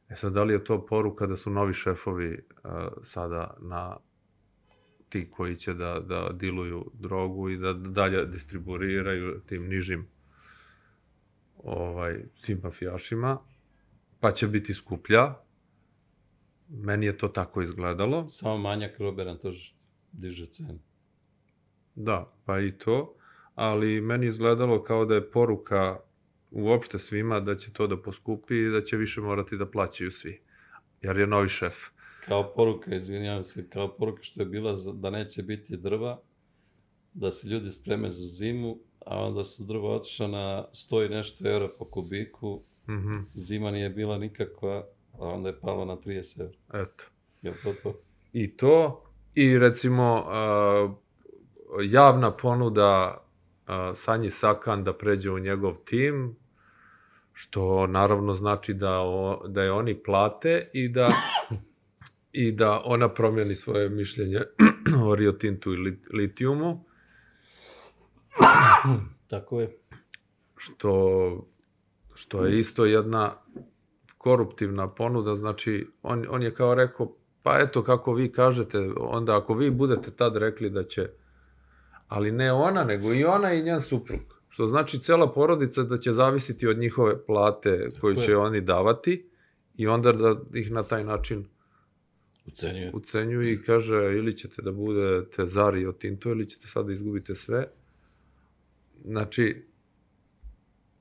E sad, da li je to poruka da su novi šefovi uh, sada na ti koji će da, da diluju drogu i da dalje distribuiraju tim nižim ovaj, tim mafijašima, pa će biti skuplja. Meni je to tako izgledalo. Samo manjak robe na to diže cenu. Da, pa i to. ali meni izgledalo kao da je poruka uopšte svima da će to da poskupi i da će više morati da plaćaju svi, jer je novi šef. Kao poruka, izvinjavam se, kao poruka što je bila da neće biti drva, da se ljudi spreme za zimu, a onda su drva otišla na sto i nešto eura po kubiku, mm-hmm. Zima nije bila nikakva, a onda je pala na trideset eura. Eto. Je to to? I to, i recimo uh, javna ponuda uh, Sanji Sakan da pređe u njegov tim, što naravno znači da, o, da je oni plate i da, i da ona promijeni svoje mišljenje o Rio Tintu i lit, litijumu. Tako je. Što, što je isto jedna koruptivna ponuda, znači on, on je kao rekao, pa eto kako vi kažete, onda ako vi budete tad rekli da će, ali ne ona, nego i ona i njen suprug. Što znači cela porodica da će zavisiti od njihove plate koju će oni davati i onda da ih na taj način ucenjuje. Ucenjuje i kaže ili ćete da budete za Rio Tinto ili ćete sad da izgubite sve. Znači...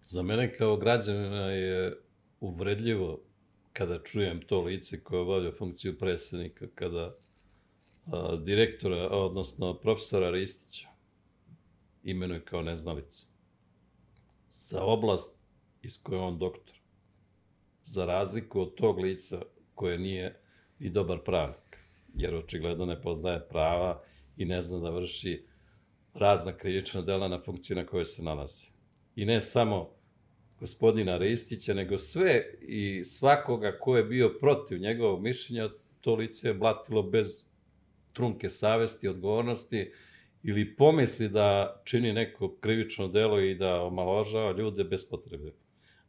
Za mene kao građanina je uvredljivo kada čujem to lice koje obavlja funkciju predsjednika, kada a, direktora, odnosno profesora Ristića imenuje kao neznalicu. Za oblast iz koje je on doktor. Za razliku od tog lica koje nije i dobar pravnik, jer očigledno ne poznaje prava i ne zna da vrši razna krivična dela na funkciji na kojoj se nalazi. I ne samo gospodina Ristića, nego sve i svakoga ko je bio protiv njegovog mišljenja, to lice je blatilo bez trunke savesti, odgovornosti ili pomisli da čini neko krivično delo i da omalovažava ljude bez potrebe.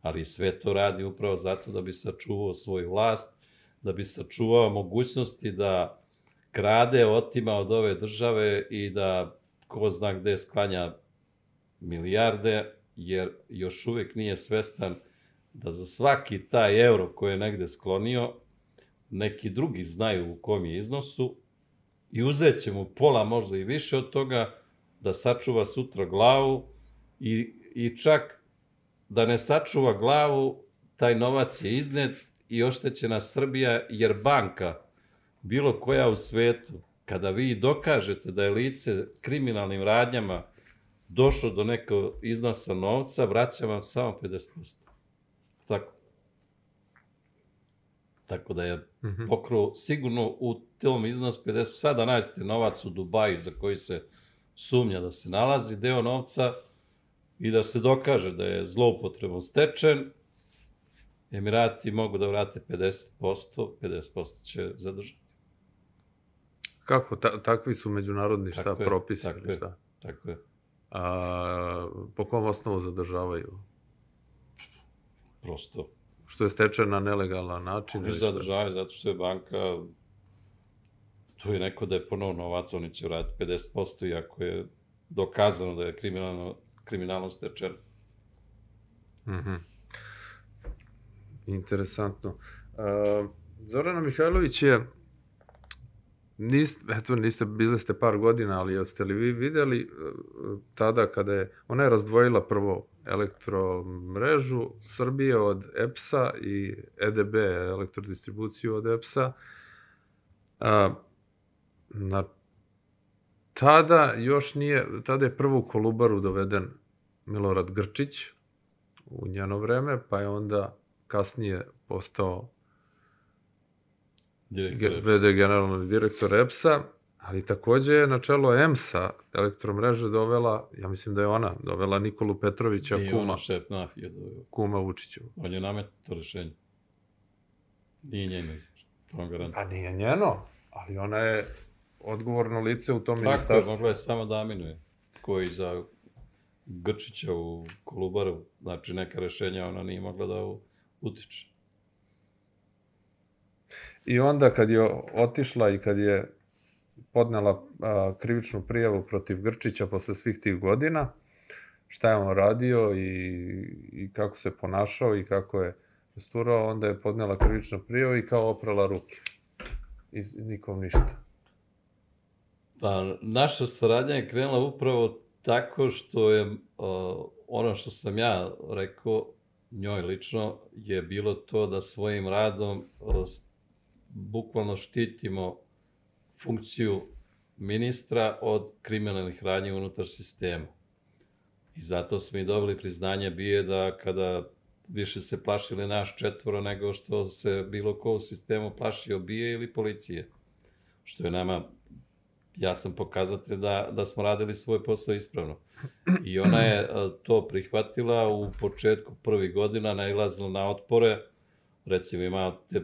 Ali sve to radi upravo zato da bi sačuvao svoju vlast, da bi sačuvao mogućnosti da krade, otima od ove države i da ko zna gde sklanja milijarde, jer još uvijek nije svestan da za svaki taj euro koji je negde sklonio, neki drugi znaju u kom je iznosu i uzet će mu pola, možda i više od toga, da sačuva sutra glavu i, i čak da ne sačuva glavu, taj novac je iznet i oštećena Srbija, jer banka, bilo koja u svetu, kada vi dokažete da je lice kriminalnim radnjama došlo do nekog iznosa novca, vraća vam samo pedeset posto. Tako. Tako da je mm-hmm. pokruo sigurno u tom iznosu pedeset posto. Sada nađete novac u Dubaju za koji se sumnja da se nalazi, deo novca, i da se dokaže da je zloupotrebom stečen, Emirati mogu da vrate pedeset posto, pedeset posto će zadržati. Kako? Ta, takvi su međunarodni šta tako propisi? Je, tako, ili šta? Je, tako je. A, po kom osnovu zadržavaju? Prosto. Što je stečen na nelegalan način? Oni zadržavaju zato što je banka, tu je neko da je ponovno novac, oni će vratiti pedeset posto, iako je dokazano da je kriminalno, kriminalno stečen. Mhm. Interesantno. Uh, Zorana Mihajlović je, niste, eto, niste, bili ste par godina, ali jeste li vi videli uh, tada kada je, ona je razdvojila prvo elektromrežu Srbije od E P S-a i E D B, elektrodistribuciju od E P S-a. Uh, na tada još nije, tada je prvo u Kolubaru doveden Milorad Grčić u njeno vreme, pa je onda kasnije postao ve de generalni direktor E P S-a, ali takođe je na čelo E M S-a elektromreže dovela, ja mislim da je ona, dovela Nikolu Petrovića, nije kuma. Ona šef mafije dovela. Kuma Vučiću. On je nametno to rešenje. Nije njeno izvršeno. Pa nije njeno, ali ona je odgovorno lice u tom tako, ministarstvu. Tako, mogla je samo da aminuje. Koji za Grčića u Kolubaru, znači neka rešenja ona nije mogla da utiče. I onda kad je otišla i kad je podnela a, krivičnu prijavu protiv Grčića posle svih tih godina, šta je on radio i, i kako se ponašao i kako je posturao, onda je podnela krivičnu prijavu i kao oprala ruke. I nikom ništa. Pa naša saradnja je krenula upravo Tako što je uh, ono što sam ja rekao njoj lično je bilo to da svojim radom uh, bukvalno štitimo funkciju ministra od kriminalnih radnji unutar sistema. I zato smo i dobili priznanje B I A da kada više se plašili naš četvoro nego što se bilo ko u sistemu plašio B I A ili policije. Što je nama jasan pokazatelj da, da smo radili svoj posao ispravno. I ona je to prihvatila u početku prvih godina, nailazila na otpore. Recimo imate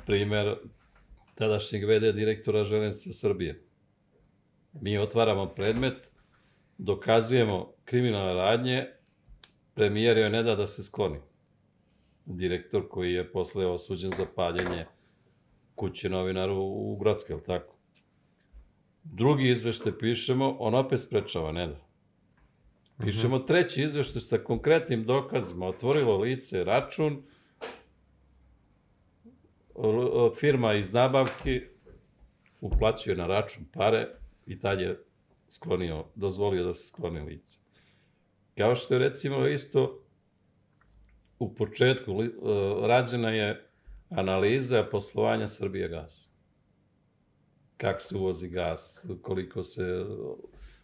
primer tadašnjeg V D direktora Železnica Srbije. Mi otvaramo predmet, dokazujemo kriminalne radnje, premijer joj ne da da se skloni. Direktor koji je posle osuđen za paljenje kuće novinaru u Grockoj, je li tako? Drugi izveštaj pišemo, on opet sprečava, ne da. Pišemo treći izveštaj sa konkretnim dokazima, otvorilo lice, račun, firma iz nabavki uplaćuje na račun pare i tad je sklonio, dozvolio da se skloni lice. Kao što je recimo isto u početku rađena je analiza poslovanja Srbijagasa. Kako se uvozi gas, koliko se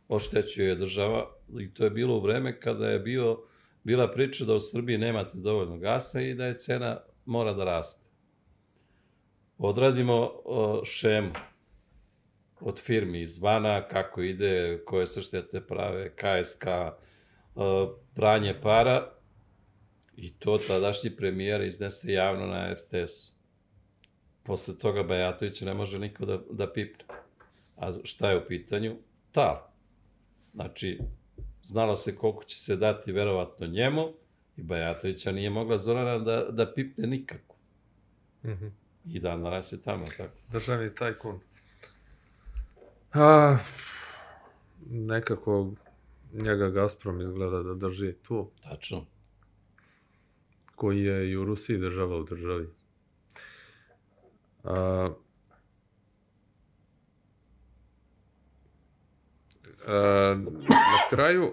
oštećuje država. I to je bilo u vreme kada je bio, bila priča da u Srbiji nemate dovoljno gasa i da je cena mora da raste. Odradimo šemu od firmi izvana, kako ide, koje se štete prave, K S K, pranje para, i to tadašnji premijer iznese javno na R T S-u. Posle toga Bajatovića ne može niko da, da pipne. A šta je u pitanju? Tal. Znači, znalo se koliko će se dati verovatno njemu i Bajatovića nije mogla Zorana da, da pipne nikako. Mm-hmm. I dan danas je tamo, tako. Državni tajkun. A, nekako njega Gazprom izgleda da drži tu. Tačno. Koji je i u Rusiji država u državi. A, a, na kraju,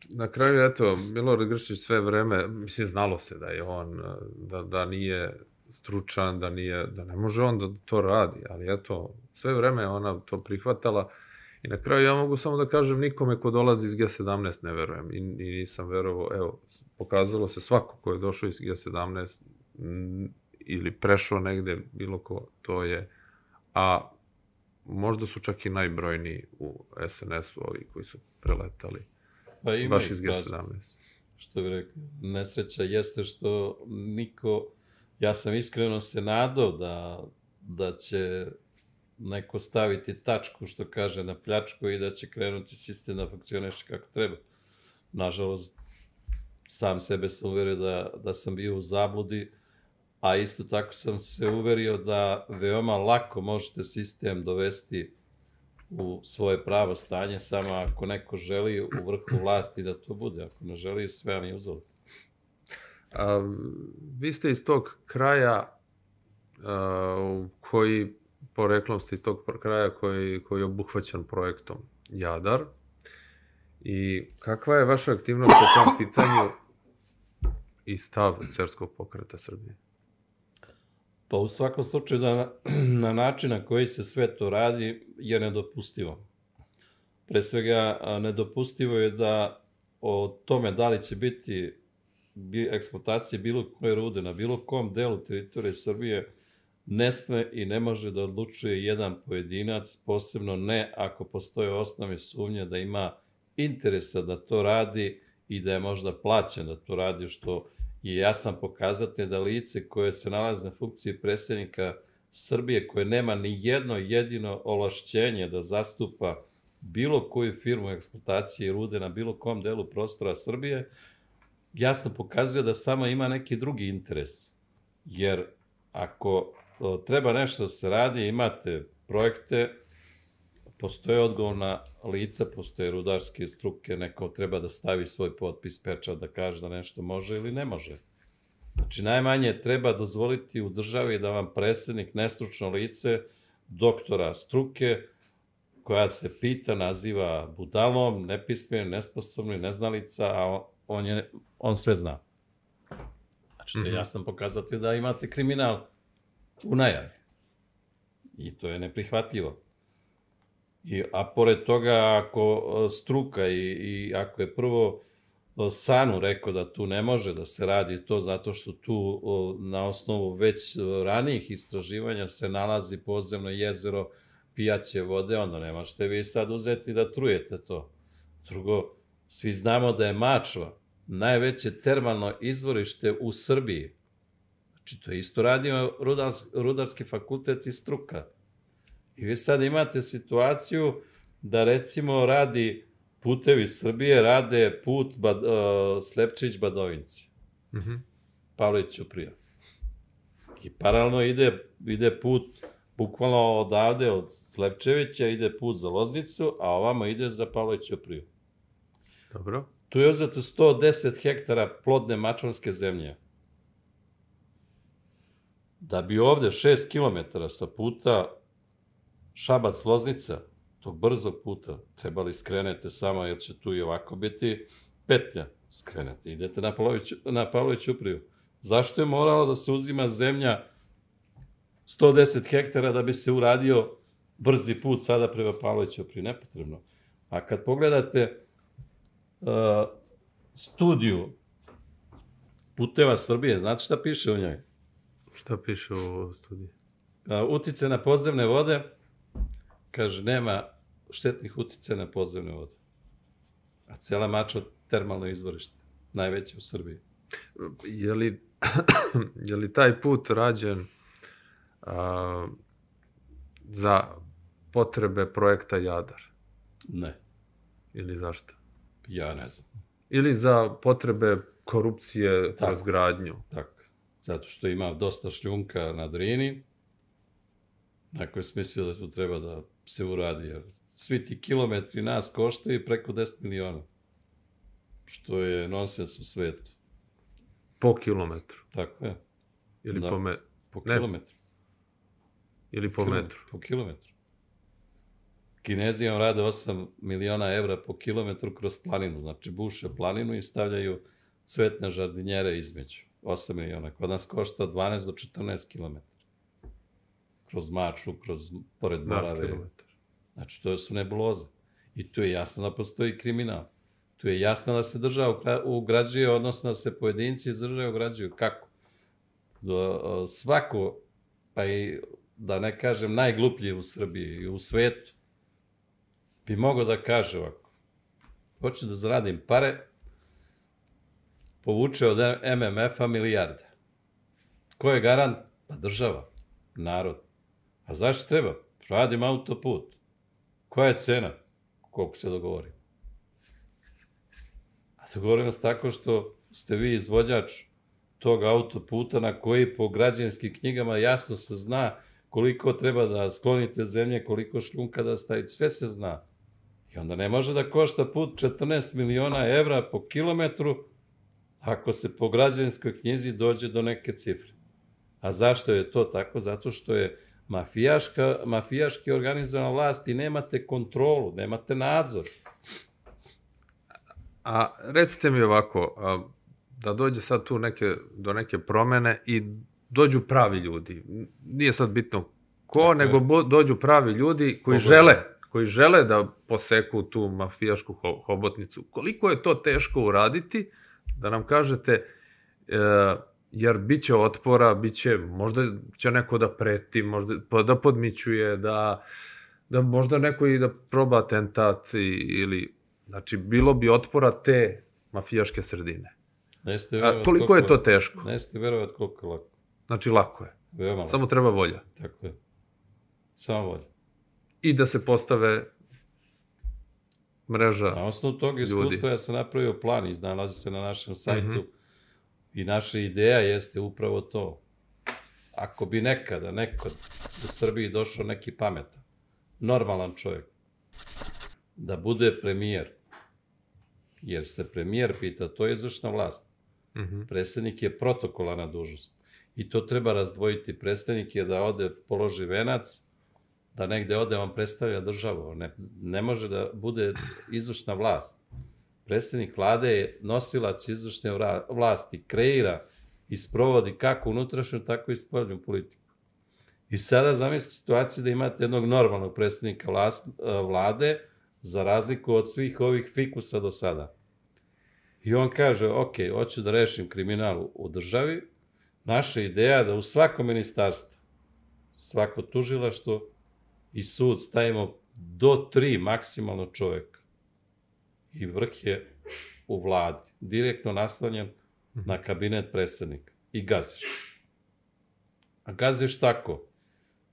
na kraju, eto, Milorad Grčić sve vreme, mislim, znalo se da je on, da, da nije stručan, da nije, da ne može on da to radi, ali eto, sve vreme ona to prihvatala i na kraju ja mogu samo da kažem nikome ko dolazi iz G sedamnaest ne verujem i, i nisam verovao, evo, pokazalo se svako ko je došao iz G sedamnaest m, ili prešao negde, bilo ko, to je, a možda su čak i najbrojniji u S N S-u ovi koji su preletali, pa ima baš iz G sedamnaest. Što bi rekli, nesreća jeste što niko, ja sam iskreno se nadao da, da će neko staviti tačku, što kaže, na pljačku i da će krenuti sistem da funkcioniše kako treba. Nažalost, sam sebe sam uverio da, da sam bio u zabludi, a isto tako sam se uverio da veoma lako možete sistem dovesti u svoje pravo stanje, samo ako neko želi u vrhu vlasti da to bude. Ako ne želi, sve vam je uzelo. A, vi ste iz tog kraja a, koji, poreklom ste iz tog kraja koji, koji je obuhvaćen projektom Jadar. I kakva je vaša aktivnost po tom pitanju i stav Cerskog pokreta Srbije? Pa u svakom slučaju da na, na način na koji se sve to radi je nedopustivo. Pre svega nedopustivo je da o tome da li će biti eksploatacije bilo koje rude na bilo kom delu teritorije Srbije ne sme i ne može da odlučuje jedan pojedinac, posebno ne ako postoje osnovne sumnje da ima interesa da to radi i da je možda plaćen da to radi, što je jasan pokazatelj da lice koje se nalazi na funkciji predsjednika Srbije, koje nema ni jedno jedino ovlašćenje da zastupa bilo koju firmu eksploatacije rude na bilo kom delu prostora Srbije, jasno pokazuje da samo ima neki drugi interes. Jer ako treba nešto da se radi, imate projekte, postoje odgovorna lica, postoje rudarske struke, neko treba da stavi svoj potpis, pečat, da kaže da nešto može ili ne može. Znači, najmanje treba dozvoliti u državi da vam predsjednik, nestručno lice, doktora struke, koja se pita, naziva budalom, nepismenim, nesposobnim, neznalica, a on, je, on sve zna. Znači, to je jasan pokazatelj da imate kriminal u najavi. I to je neprihvatljivo. I, a pored toga, ako struka i, i ako je prvo Sanu rekao da tu ne može da se radi to zato što tu na osnovu već ranijih istraživanja se nalazi podzemno jezero pijaće vode, onda ne možete vi sad uzeti da trujete to. Drugo, svi znamo da je Mačva najveće termalno izvorište u Srbiji. Znači, to je isto radio Rudarski fakultet i struka. I vi sad imate situaciju da, recimo, radi Putevi Srbije, rade put Bad, uh, Slepčić-Badovinci. Mm-hmm. Pavlović Ćuprija. I paralelno ide, ide put, bukvalno odavde, od Slepčevića, ide put za Loznicu, a ovamo ide za Pavlović Ćupriju. Dobro. Tu je uzeto sto deset hektara plodne mačvanske zemlje. Da bi ovde šest kilometara sa puta Šabac-Loznica, tog brzog puta, trebali skrenete samo, jer će tu i ovako biti petlja. Skrenete, idete na, Pavlović, na Pavlović Ćupriju. Zašto je moralo da se uzima zemlja sto deset hektara da bi se uradio brzi put sada prema Pavlović Ćupriju? Nepotrebno. A kad pogledate uh, studiju Puteva Srbije, znate šta piše u njoj? Šta piše u studiji? Uh, utice na podzemne vode, kaže, nema štetnih uticaja na podzemne vode. A cela Mačva termalno izvorište, najveće u Srbiji. Je li, je li taj put rađen a, za potrebe projekta Jadar? Ne. Ili zašto? Ja ne znam. Ili za potrebe korupcije kroz gradnju? Tako. Zato što ima dosta šljunka na Drini, neko je smislio da tu treba da se uradi, jer svi ti kilometri nas koštaju preko deset miliona, što je nonsens u svetu. Po kilometru? Tako je. Ili da, po metru? Po kilometru. Ili po Kilometru, metru? Po kilometru. Kinezi vam rade osam miliona evra po kilometru kroz planinu, znači buše planinu i stavljaju cvetne žardinjere između. osam miliona. Kod nas košta dvanaest do četrnaest kilometara. Kroz Mačvu, kroz pored Morave. Znači, to su nebuloze. I tu je jasno da postoji kriminal. Tu je jasno da se država ugrađuje, odnosno da se pojedinci iz države ugrađuju. Kako? Svako, pa i da ne kažem najgluplji u Srbiji i u svetu, bi mogao da kaže ovako. Hoću da zaradim pare, povuče od M M F-a milijarde. Ko je garant? Pa država, narod. A zašto treba? Radim autoput. Koja je cena? Koliko se dogovori? A dogovorimo se tako što ste vi izvođač tog autoputa na koji po građevinskim knjigama jasno se zna koliko treba da sklonite zemlje, koliko šljunka da stavite, sve se zna. I onda ne može da košta put četrnaest miliona evra po kilometru ako se po građevinskoj knjizi dođe do neke cifre. A zašto je to tako? Zato što je mafijaška, mafijaški organizovana vlast i nemate kontrolu, nemate nadzor. A recite mi ovako, a, da dođe sad tu neke, do neke promene i dođu pravi ljudi. Nije sad bitno ko, tako nego bo, dođu pravi ljudi koji Pogodno. žele, koji žele da poseku tu mafijašku ho, hobotnicu. Koliko je to teško uraditi, da nam kažete, e, jer bit će otpora, bit će, možda će neko da preti, možda da podmićuje, da, da možda neko i da proba atentat i, ili, znači, bilo bi otpora te mafijaške sredine. A koliko je to teško? Ne ste verovati koliko je lako. Znači, lako je. Veoma lako. Samo treba volja. Tako je. Samo volja. I da se postave mreža Na osnovu tog iskustva ja sam napravio plan i nalazi se na našem sajtu. Mm-hmm. I naša ideja jeste upravo to. Ako bi nekada, nekad u Srbiji došao neki pametan, normalan čovjek, da bude premijer, jer se premijer pita, to je izvršna vlast. Mm-hmm. Predsednik je protokolarna dužnost. I to treba razdvojiti. Predsednik je da ode, položi venac, da negde ode, on predstavlja državu. Ne, ne može da bude izvršna vlast. Predstavnik vlade je nosilac izvršne vlasti, kreira i sprovodi kako unutrašnju, tako i spoljnu politiku. I sada zamislite situaciju da imate jednog normalnog predstavnika vlade, za razliku od svih ovih fikusa do sada. I on kaže, ok, hoću da rešim kriminal u državi, naša ideja je da u svako ministarstvo, svako tužilaštvo i sud stavimo do tri maksimalno čoveka. I vrh je u vladi, direktno naslanjen na kabinet predsednika. I gaziš. A gaziš tako,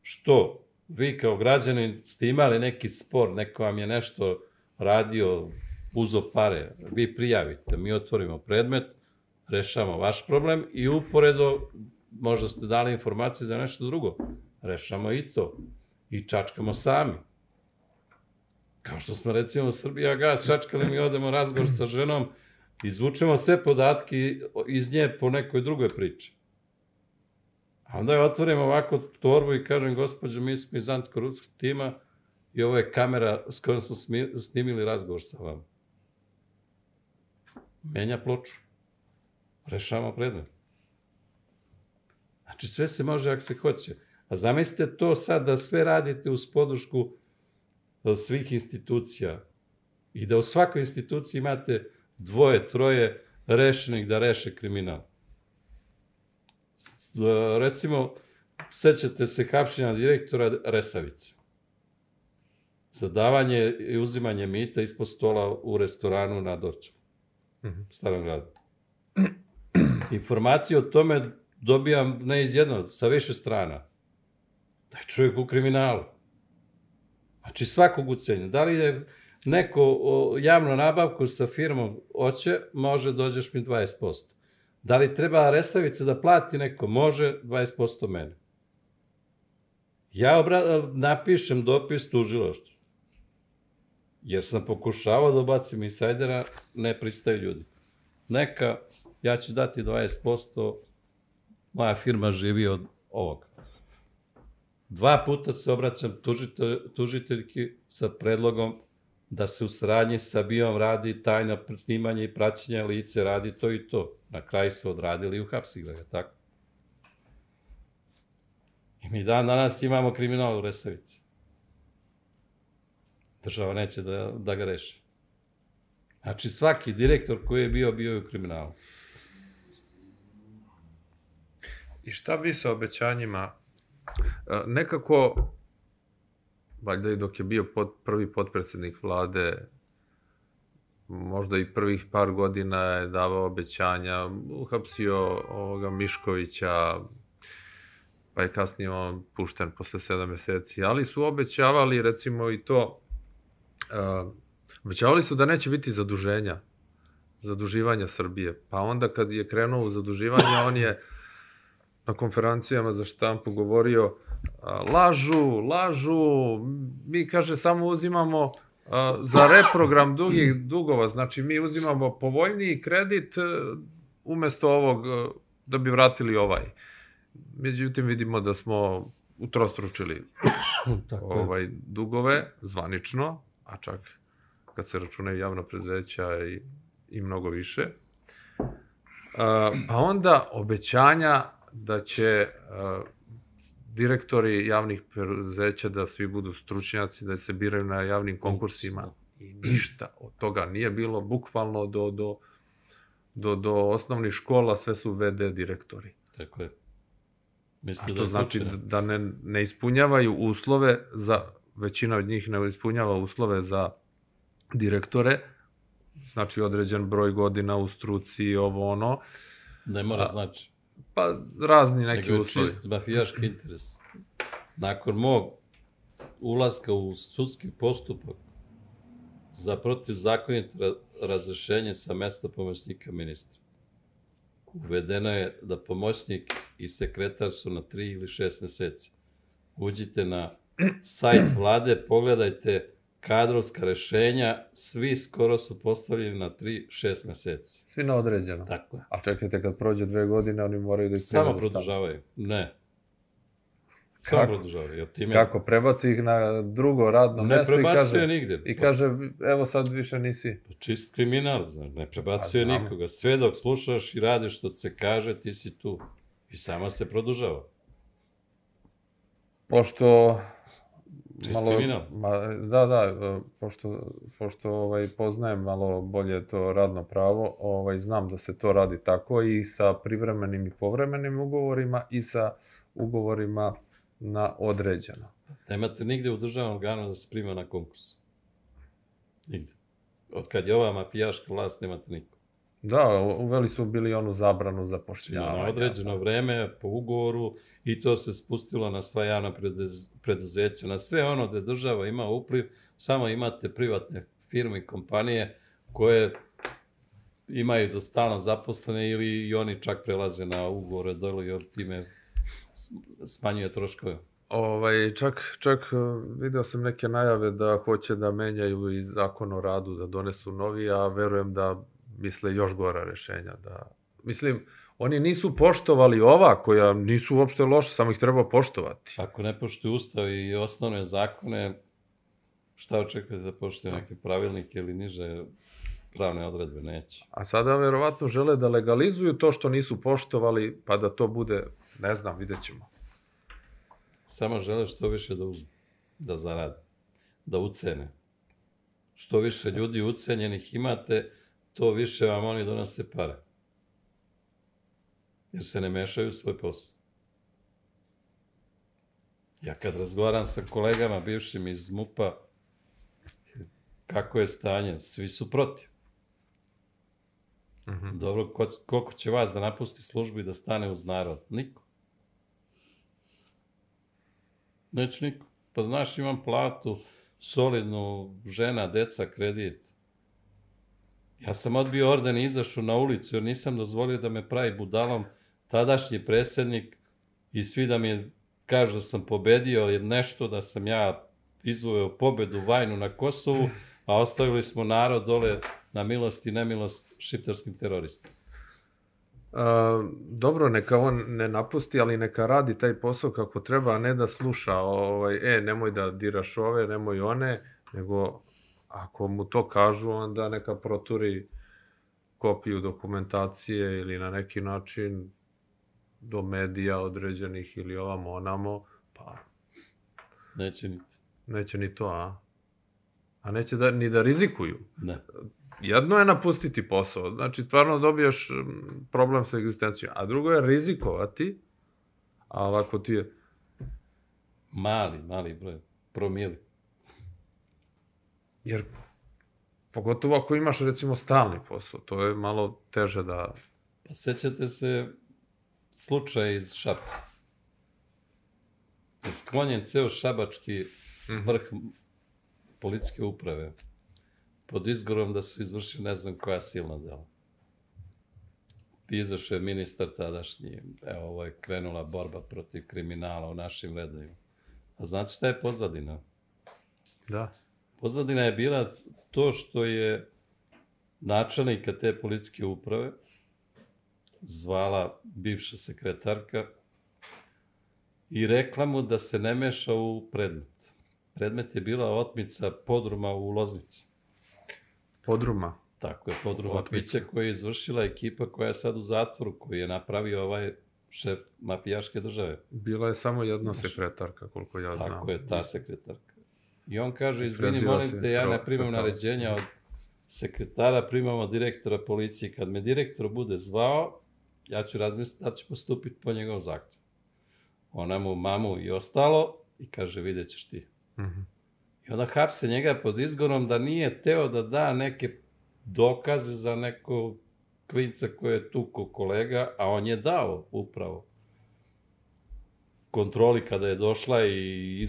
što vi kao građanin ste imali neki spor, neko vam je nešto radio, uzo pare, vi prijavite, mi otvorimo predmet, rešavamo vaš problem i uporedo možda ste dali informacije za nešto drugo. Rešamo i to. I čačkamo sami. Kao što smo recimo Srbija gas čačkali, mi odemo razgovor sa ženom, izvučemo sve podatke iz nje po nekoj drugoj priči. A onda je otvorimo ovako torbu i kažem, gospođo, mi smo iz antikorupcijskog tima i ovo je kamera s kojom smo snimili razgovor sa vama. Menja ploču. Rešavamo predmet. Znači, sve se može ako se hoće. A zamislite to sad da sve radite uz podršku svih institucija i da u svakoj instituciji imate dvoje, troje rešenih da reše kriminal. Recimo, sećate se hapšenja direktora Resavice. Za davanje i uzimanje mita ispod stola u restoranu na Dorćolu, Starom gradu. Informacije o tome dobijam ne iz jednog, sa više strana. Da je čovjek u kriminalu. Znači svakog ucenja. Da li je neko javnu nabavku sa firmom hoće, može, dođeš mi dvadeset posto. Da li treba Resavica da plati neko, može, dvadeset posto mene. Ja napišem dopis tužilaštvu. Jer sam pokušavao da ubacim insajdera, ne pristaju ljudi. Neka, ja ću dati dvadeset posto, moja firma živi od ovoga. Dva puta se obraćam tužiteljki sa predlogom da se u saradnji sa BIA-om radi tajna snimanja i praćenja lice, radi to i to. Na kraju su odradili i uhapsili ga, tako? I mi dan danas imamo kriminal u Resavici. Država neće da ga reši. Znači svaki direktor koji je bio, bio je u kriminalu. I šta bi sa obećanjima? Nekako, valjda i dok je bio prvi potpredsednik vlade, možda i prvih par godina je davao obećanja, uhapsio ovoga Miškovića, pa je kasnije on pušten posle sedam meseci, ali su obećavali recimo i to, obećavali su da neće biti zaduženja, zaduživanja Srbije, pa onda kad je krenuo u zaduživanje, on je na konferencijama za štampu govorio, lažu, lažu, mi, kaže, samo uzimamo za reprogram dugih dugova, znači mi uzimamo povoljniji kredit umesto ovog da bi vratili ovaj. Međutim, vidimo da smo utrostručili dugove zvanično, a čak kad se računaju javna preduzeća i mnogo više. Pa onda obećanja da će direktori javnih preduzeća da svi budu stručnjaci, da se biraju na javnim konkursima. I ništa od toga nije bilo, bukvalno do osnovnih škola sve su ve de direktori. Tako je. A što znači da ne ispunjavaju uslove, većina od njih ne ispunjava uslove za direktore, znači određen broj godina u struci, ovo ono. Ne mora znači. Pa razni neki uslovi. Nego je čist mafijaški interes. Nakon mog ulaska u sudski postupak za protivzakonito razrešenje sa mesta pomoćnika ministra, uvedeno je da pomoćnik i sekretar su na tri ili šest meseci. Uđite na sajt vlade, pogledajte kadrovska rešenja, svi skoro su postavljeni na tri šest meseci. Svi na određeno? Tako je. A čekajte, kad prođe dve godine, oni moraju da ih prema za Samo produžavaju. Ne. Samo produžava. Time... Kako, prebaci ih na drugo radno ne mesto i kaže, nigde. i kaže, evo sad više nisi. Čist kriminal, znaš, ne prebacuje nikoga. Sve dok slušaš i radiš što se kaže, ti si tu. I sama se produžava. Pošto... Čist kriminal. Da, da, pošto, pošto ovaj, poznajem malo bolje to radno pravo, ovaj, znam da se to radi tako i sa privremenim i povremenim ugovorima i sa ugovorima na određeno. Nemate nigde u državnom organu da se prima na konkurs. Nigde. Od kad je ova mafijaška vlast, nemate niko. Da, uveli su bili onu zabranu zapošljavanja. Na određeno vreme, po ugovoru, i to se spustilo na sva javna preduzeća, na sve ono gde država ima upliv, samo imate privatne firme i kompanije koje imaju za stalno zaposlene ili i oni čak prelaze na ugovore dolu jer time smanjuje troškove. Ovaj, čak, čak video sam neke najave da hoće da menjaju i zakon o radu, da donesu novi, a verujem da misle još gora rešenja. Da... Mislim, oni nisu poštovali ova koja nisu uopšte loše, samo ih treba poštovati. Ako ne poštuju ustav i osnovne zakone, šta očekujete da poštuju neke pravilnike ili niže pravne odredbe? Neće. A sada verovatno žele da legalizuju to što nisu poštovali, pa da to bude, ne znam, vidjet ćemo. Samo žele što više da uzmu, da zarade, da ucene. Što više ljudi ucenjenih imate, to više vam oni donose pare. Jer se ne mešaju u svoj posao. Ja kad razgovaram sa kolegama bivšim iz MUP-a, kako je stanje, svi su protiv. Dobro, koliko će vas da napusti službu i da stane uz narod? Niko. Neće niko. Pa znaš, imam platu, solidnu, žena, deca, kredit. Ja sam odbio orden i izašao na ulicu jer nisam dozvolio da me pravi budalom tadašnji predsjednik i svi da mi kažu da sam pobedio jer nešto da sam ja izvojao pobedu vajnu na Kosovu, a ostavili smo narod dole na milost i nemilost šiptarskim teroristima. Dobro, neka on ne napusti, ali neka radi taj posao kako treba, a ne da sluša, e, nemoj da diraš ove, nemoj one, nego ako mu to kažu, onda neka proturi kopiju dokumentacije ili na neki način do medija određenih ili ovamo onamo, pa... Neće ni to. Neće ni to, a? A neće ni da rizikuju. Ne. Jedno je napustiti posao, znači stvarno dobijaš problem sa egzistencijom, a drugo je rizikovati, a ovako ti je... Mali, mali broj, promili. Jer, pogotovo ako imaš, recimo, stalni posao, to je malo teže da... Pa sećate se slučaja iz Šapca. Sklonjen ceo šabački vrh policijske uprave pod izgovorom da su izvršili ne znam koja silna dela. Izašao je ministar tadašnji, evo ovo je krenula borba protiv kriminala u našim redovima. A znate šta je pozadina? Da. Pozadina je bila to što je načelnika te policijske uprave zvala bivša sekretarka i rekla mu da se ne meša u predmet. Predmet je bila otmica podruma u Loznici. Podruma? Tako je, podruma pića koja je izvršila ekipa koja je sad u zatvoru, koji je napravio ovaj šef mafijaške države. Bila je samo jedna sekretarka, koliko ja znam. Tako je, ta sekretarka. I on kaže, izvini, molim te, ja ne primam naređenja od sekretara, primam od direktora policije. Kad me direktor bude zvao, ja ću razmisliti da ću postupiti po njegovom zahtjevu. Ona mu mamu i ostalo i kaže, vidjet ćeš ti. I onda hapse njega pod izgovorom da nije teo da da neke dokaze za nekog klinca koji je tuko kolega, a on je dao upravo kontroli kada je došla i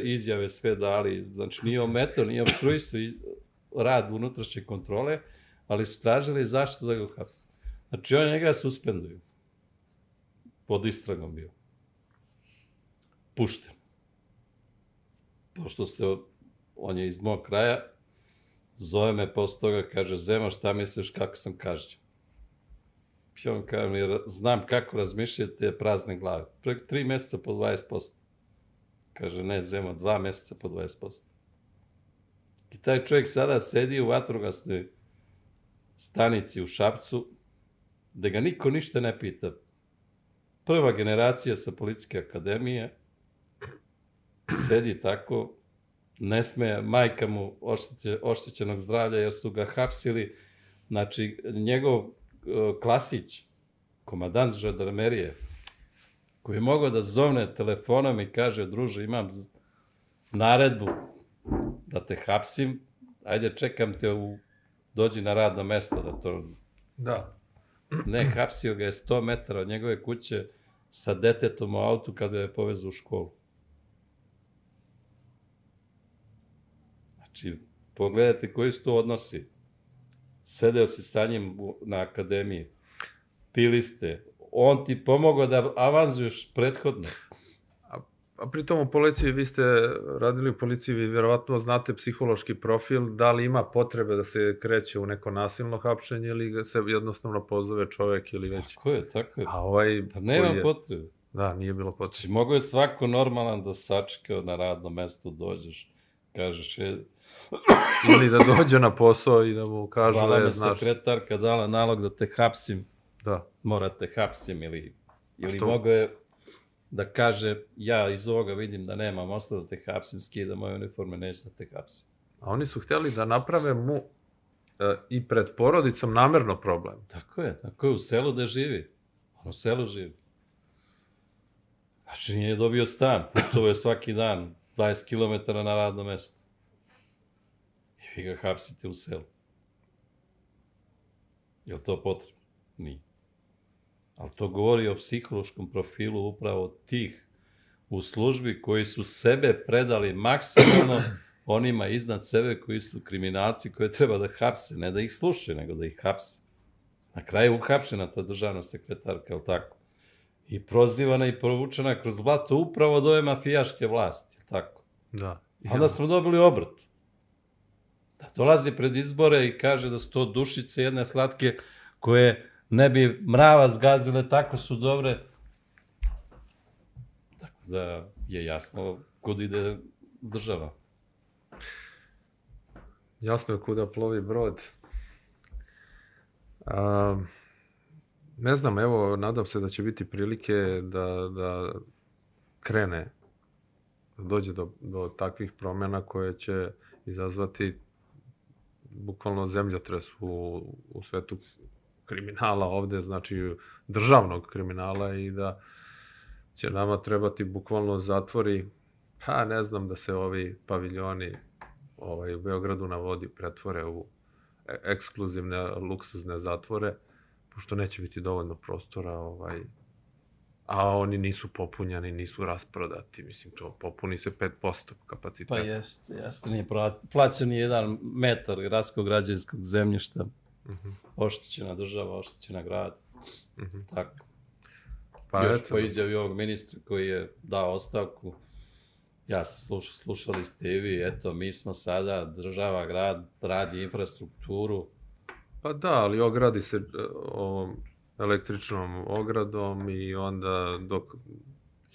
izjave sve dali. Znači, nije ometao, nije obstruisao rad unutrašnje kontrole, ali su tražili zašto da ga hapse. Znači, on njega suspenduju. Pod istragom bio. Pušten. Pošto se, on je iz mog kraja, zove me posle toga, kaže, Zema, šta misliš kako sam kažnjen? I on kaže, znam kako razmišljate prazne glave. Preko tri meseca po dvadeset posto. Kaže, ne, Zemo, dva meseca po dvadeset posto. I taj čovjek sada sedi u vatrogasnoj stanici u Šapcu, da ga niko ništa ne pita. Prva generacija sa policijske akademije sedi tako, ne sme, majka mu oštećenog zdravlja jer su ga hapsili. Znači, njegov Klasić, komadant žandarmerije, koji je mogao da zovne telefonom i kaže, druže, imam naredbu da te hapsim, ajde čekam te, u, dođi na radno mesto da to... Da. Ne, hapsio ga je sto metara od njegove kuće sa detetom u autu kada je povezao u školu. Znači, pogledajte koji su to odnosi. Sedeo si sa njim na akademiji, pili ste, on ti pomogao da avanzuješ prethodno. A, a pritom u policiji, vi ste radili u policiji, vi vjerovatno znate psihološki profil, da li ima potrebe da se kreće u neko nasilno hapšenje ili ga se jednostavno pozove čovjek ili već... Tako je, tako je. A ovaj... Pa nema je... potrebe. Da, nije bilo potrebe. Znači, mogo je svako normalan da sačeka na radno mesto, dođeš, kažeš je... Ili da dođe na posao i da mu kažu, Zvala je, mi znaš... sekretarka dala nalog da te hapsim. Da. Morate hapsim ili... Ili Što? mogo je da kaže, ja iz ovoga vidim da nemam osnova da te hapsim, skida moje uniforme, neće da te hapsim. A oni su htjeli da naprave mu e, i pred porodicom namerno problem. Tako je, tako je, u selu da živi. On u selu živi. Znači, nije dobio stan, putovao je svaki dan, dvadeset kilometara na radno mesto. I vi ga hapsite u selu. Je li to potrebno? Nije. Ali to govori o psihološkom profilu upravo tih u službi koji su sebe predali maksimalno onima iznad sebe koji su kriminalci koje treba da hapse, ne da ih slušaju, nego da ih hapse. Na kraju uhapšena ta državna sekretarka, je li tako? I prozivana i provučena kroz blato upravo od ove mafijaške vlasti, je li tako? Da. A onda smo dobili obrat. Da dolazi pred izbore i kaže da su to dušice jedne slatke koje ne bi mrava zgazile, tako su dobre. Tako da je jasno kud ide država. Jasno je kuda plovi brod. A, ne znam, evo, nadam se da će biti prilike da, da krene, da dođe do, do takvih promjena koje će izazvati bukvalno zemljotres u, u svetu kriminala ovde, znači državnog kriminala i da će nama trebati bukvalno zatvori, pa ne znam, da se ovi paviljoni ovaj, u Beogradu na vodi pretvore u ekskluzivne, luksuzne zatvore, pošto neće biti dovoljno prostora, ovaj, a oni nisu popunjani, nisu rasprodati, mislim, to popuni se pet posto kapaciteta. Pa jeste, jeste, nije plaćen ni jedan metar gradskog građevinskog zemljišta. Uh-huh. Oštećena država, oštećena grad. Uh-huh. Tako. Pa još eto, po izjavi ovog ministra koji je dao ostavku, ja sam slušao, slušali ste i vi, eto, mi smo sada, država, grad, radi infrastrukturu. Pa da, ali ogradi se ovom električnom ogradom i onda dok,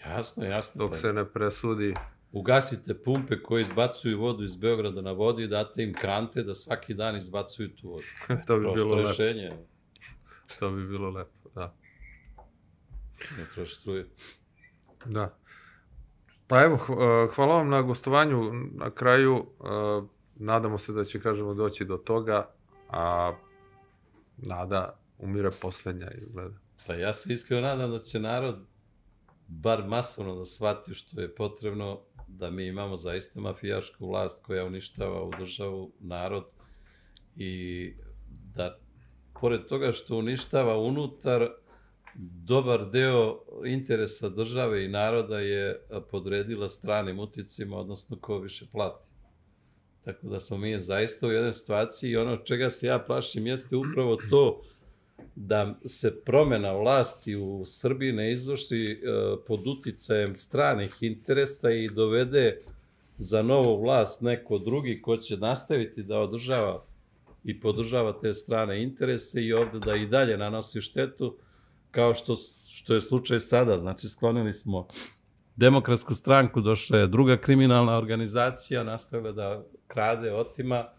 jasno, jasno, dok se ne presudi... Ugasite pumpe koje izbacuju vodu iz Beograda na vodu i date im kante da svaki dan izbacuju tu vodu. To bi bilo lepo. Rešenje. To bi bilo lepo, da. Ne troši struje. Da. Pa evo, hvala vam na gostovanju. Na kraju, nadamo se da će, kažemo, doći do toga, a nada umire posljednja izgleda. Pa ja se iskreno nadam da će narod bar masovno da shvati što je potrebno, da mi imamo zaista mafijašku vlast koja uništava u državu narod i da, pored toga što uništava unutar, dobar deo interesa države i naroda je podredila stranim uticima, odnosno ko više plati. Tako da smo mi zaista u jednoj situaciji i ono čega se ja plašim jeste upravo to da se promjena vlasti u Srbiji ne izvrši pod uticajem stranih interesa i dovede za novu vlast neko drugi ko će nastaviti da održava i podržava te strane interese i ovde da i dalje nanosi štetu, kao što, što je slučaj sada. Znači, sklonili smo Demokratsku stranku, došla je druga kriminalna organizacija, nastavila da krade, otima.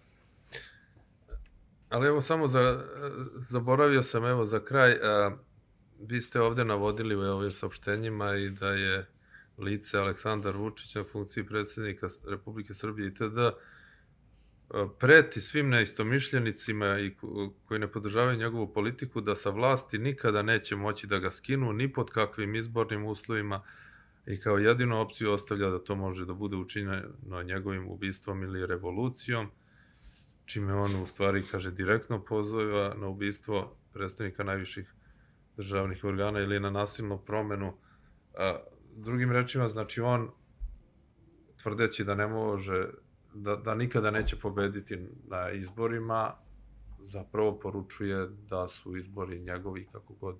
Ali evo samo za, zaboravio sam evo za kraj, a, vi ste ovde navodili u ovim saopštenjima i da je lice Aleksandar Vučić na funkciji predsjednika Republike Srbije itd. preti svim neistomišljenicima i koji ne podržavaju njegovu politiku da sa vlasti nikada neće moći da ga skinu ni pod kakvim izbornim uslovima i kao jedinu opciju ostavlja da to može da bude učinjeno njegovim ubistvom ili revolucijom, čime on u stvari, kaže, direktno poziva na ubistvo predstavnika najviših državnih organa ili na nasilnu promenu. Drugim rečima, znači on, tvrdeći da ne može, da, da nikada neće pobediti na izborima, zapravo poručuje da su izbori njegovi kako god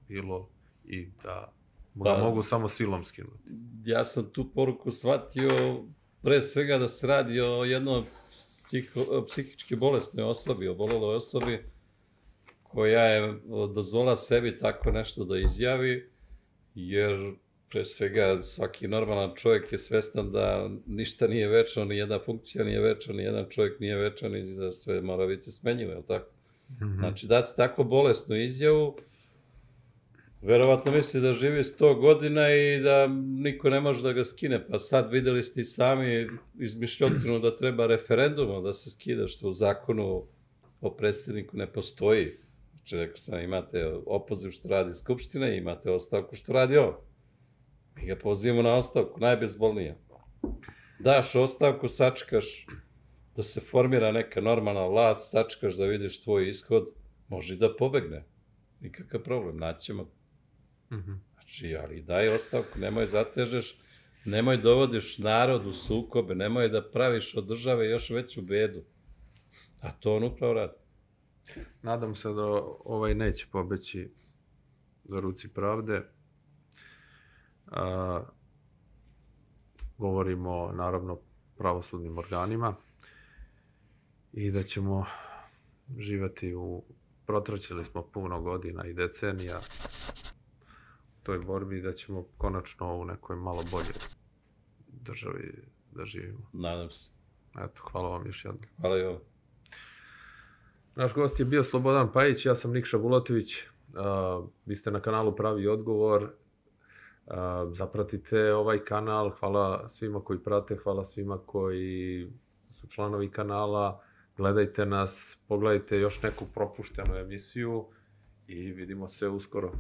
bilo i da ga pa, mogu samo silom skinuti. Ja sam tu poruku shvatio pre svega da se radi o jednoj psiho, psihički bolesnoj osobi, oboleloj osobi koja je dozvolila sebi tako nešto da izjavi, jer pre svega svaki normalan čovjek je svestan da ništa nije večno, ni jedna funkcija nije večna, ni jedan čovjek nije večan i da sve mora biti smenjivo, je li tako? Mm-hmm. Znači, dati tako bolesnu izjavu, verovatno misli da živi sto godina i da niko ne može da ga skine, pa sad videli ste i sami izmišljotinu da treba referendumom da se skida, što u zakonu o predsjedniku ne postoji. Znači, rekao sam, imate opoziv što radi Skupština i imate ostavku što radi on. Mi ga pozivamo na ostavku, najbezbolnija. Daš ostavku, sačekaš da se formira neka normalna vlast, sačekaš da vidiš tvoj ishod, može da pobegne. Nikakav problem, naćemo. Mm-hmm. Znači, ali daj ostavku, nemoj zatežeš, nemoj dovodiš narod u sukobe, nemoj da praviš od države još veću bedu. A to on upravo radi. Nadam se da ovaj neće pobeći do ruci pravde. A, govorimo naravno pravosudnim organima i da ćemo živati u, protraćili smo puno godina i decenija u toj borbi i da ćemo konačno u nekoj malo bolje državi da živimo. Nadam se. Eto, hvala vam još jednom. Hvala i vam. Naš gost je bio Slobodan Pajić, ja sam Nikša Bulatović. Uh, vi ste na kanalu Pravi odgovor. Uh, zapratite ovaj kanal. Hvala svima koji prate, hvala svima koji su članovi kanala. Gledajte nas, pogledajte još neku propuštenu emisiju i vidimo se uskoro.